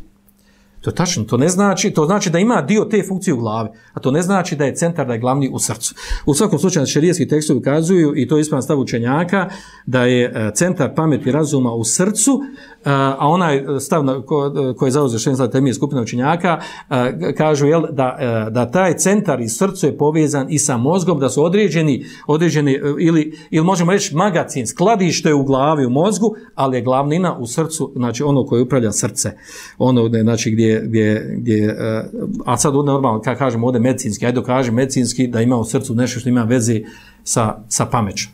To je tačno, to ne znači, to znači da ima dio te funkcije u glavi, a to ne znači da je centar, da je glavni u srcu. U svakom slučaju šerijski tekstovi ukazuju, i to je ispravan stav učenjaka, da je centar pameti razuma u srcu, a onaj stav koji je zauzeo šerijski stav temije skupina učenjaka, kažu jel, da, da taj centar i srcu je povezan i sa mozgom, da su određeni, određeni ili, ili možemo reći magacin, skladište u glavi, u mozgu, ali je glavnina u srcu, znači ono koje upravlja srce, ono znači gdje gdje, gdje, a sad normalno, kada kažemo ovdje medicinski, ajde dokažem medicinski da ima u srcu nešto što ima veze sa, sa pamećom.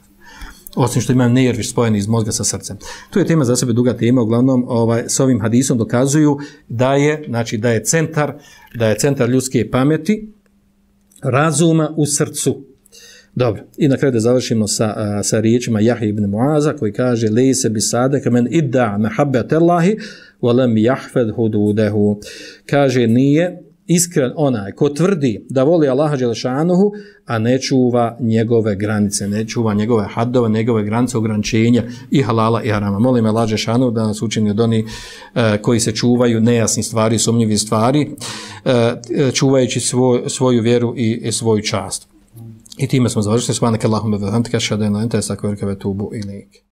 Osim što ima nervi spojeni iz mozga sa srcem. To je tema za sebe duga tema, uglavnom ovaj, s ovim hadisom dokazuju da je, znači, da je centar, da je centar ljudske pameti, razuma u srcu. Dobro, i na kraju da završimo sa, sa riječima Jahje ibn Muaza koji kaže lejse bi sadaka men idda mahabbet Allahi walam yahfad hududahu. Kaže nije iskren onaj ko tvrdi da voli Allaha dželešanuhu, a ne čuva njegove granice, ne čuva njegove haddove, njegove granice, ograničenja i halala i harama. Molim Allaha dželešanuhu da nas učini od onih uh, koji se čuvaju nejasnih stvari, sumnjivih stvari, uh, čuvajući svoj, svoju vjeru i, i svoju čast. I time smo završili. Subhanaka Allahumma wa bihamdika, ashhadu an la ilaha illa anta, astaghfiruka wa atubu ilayk.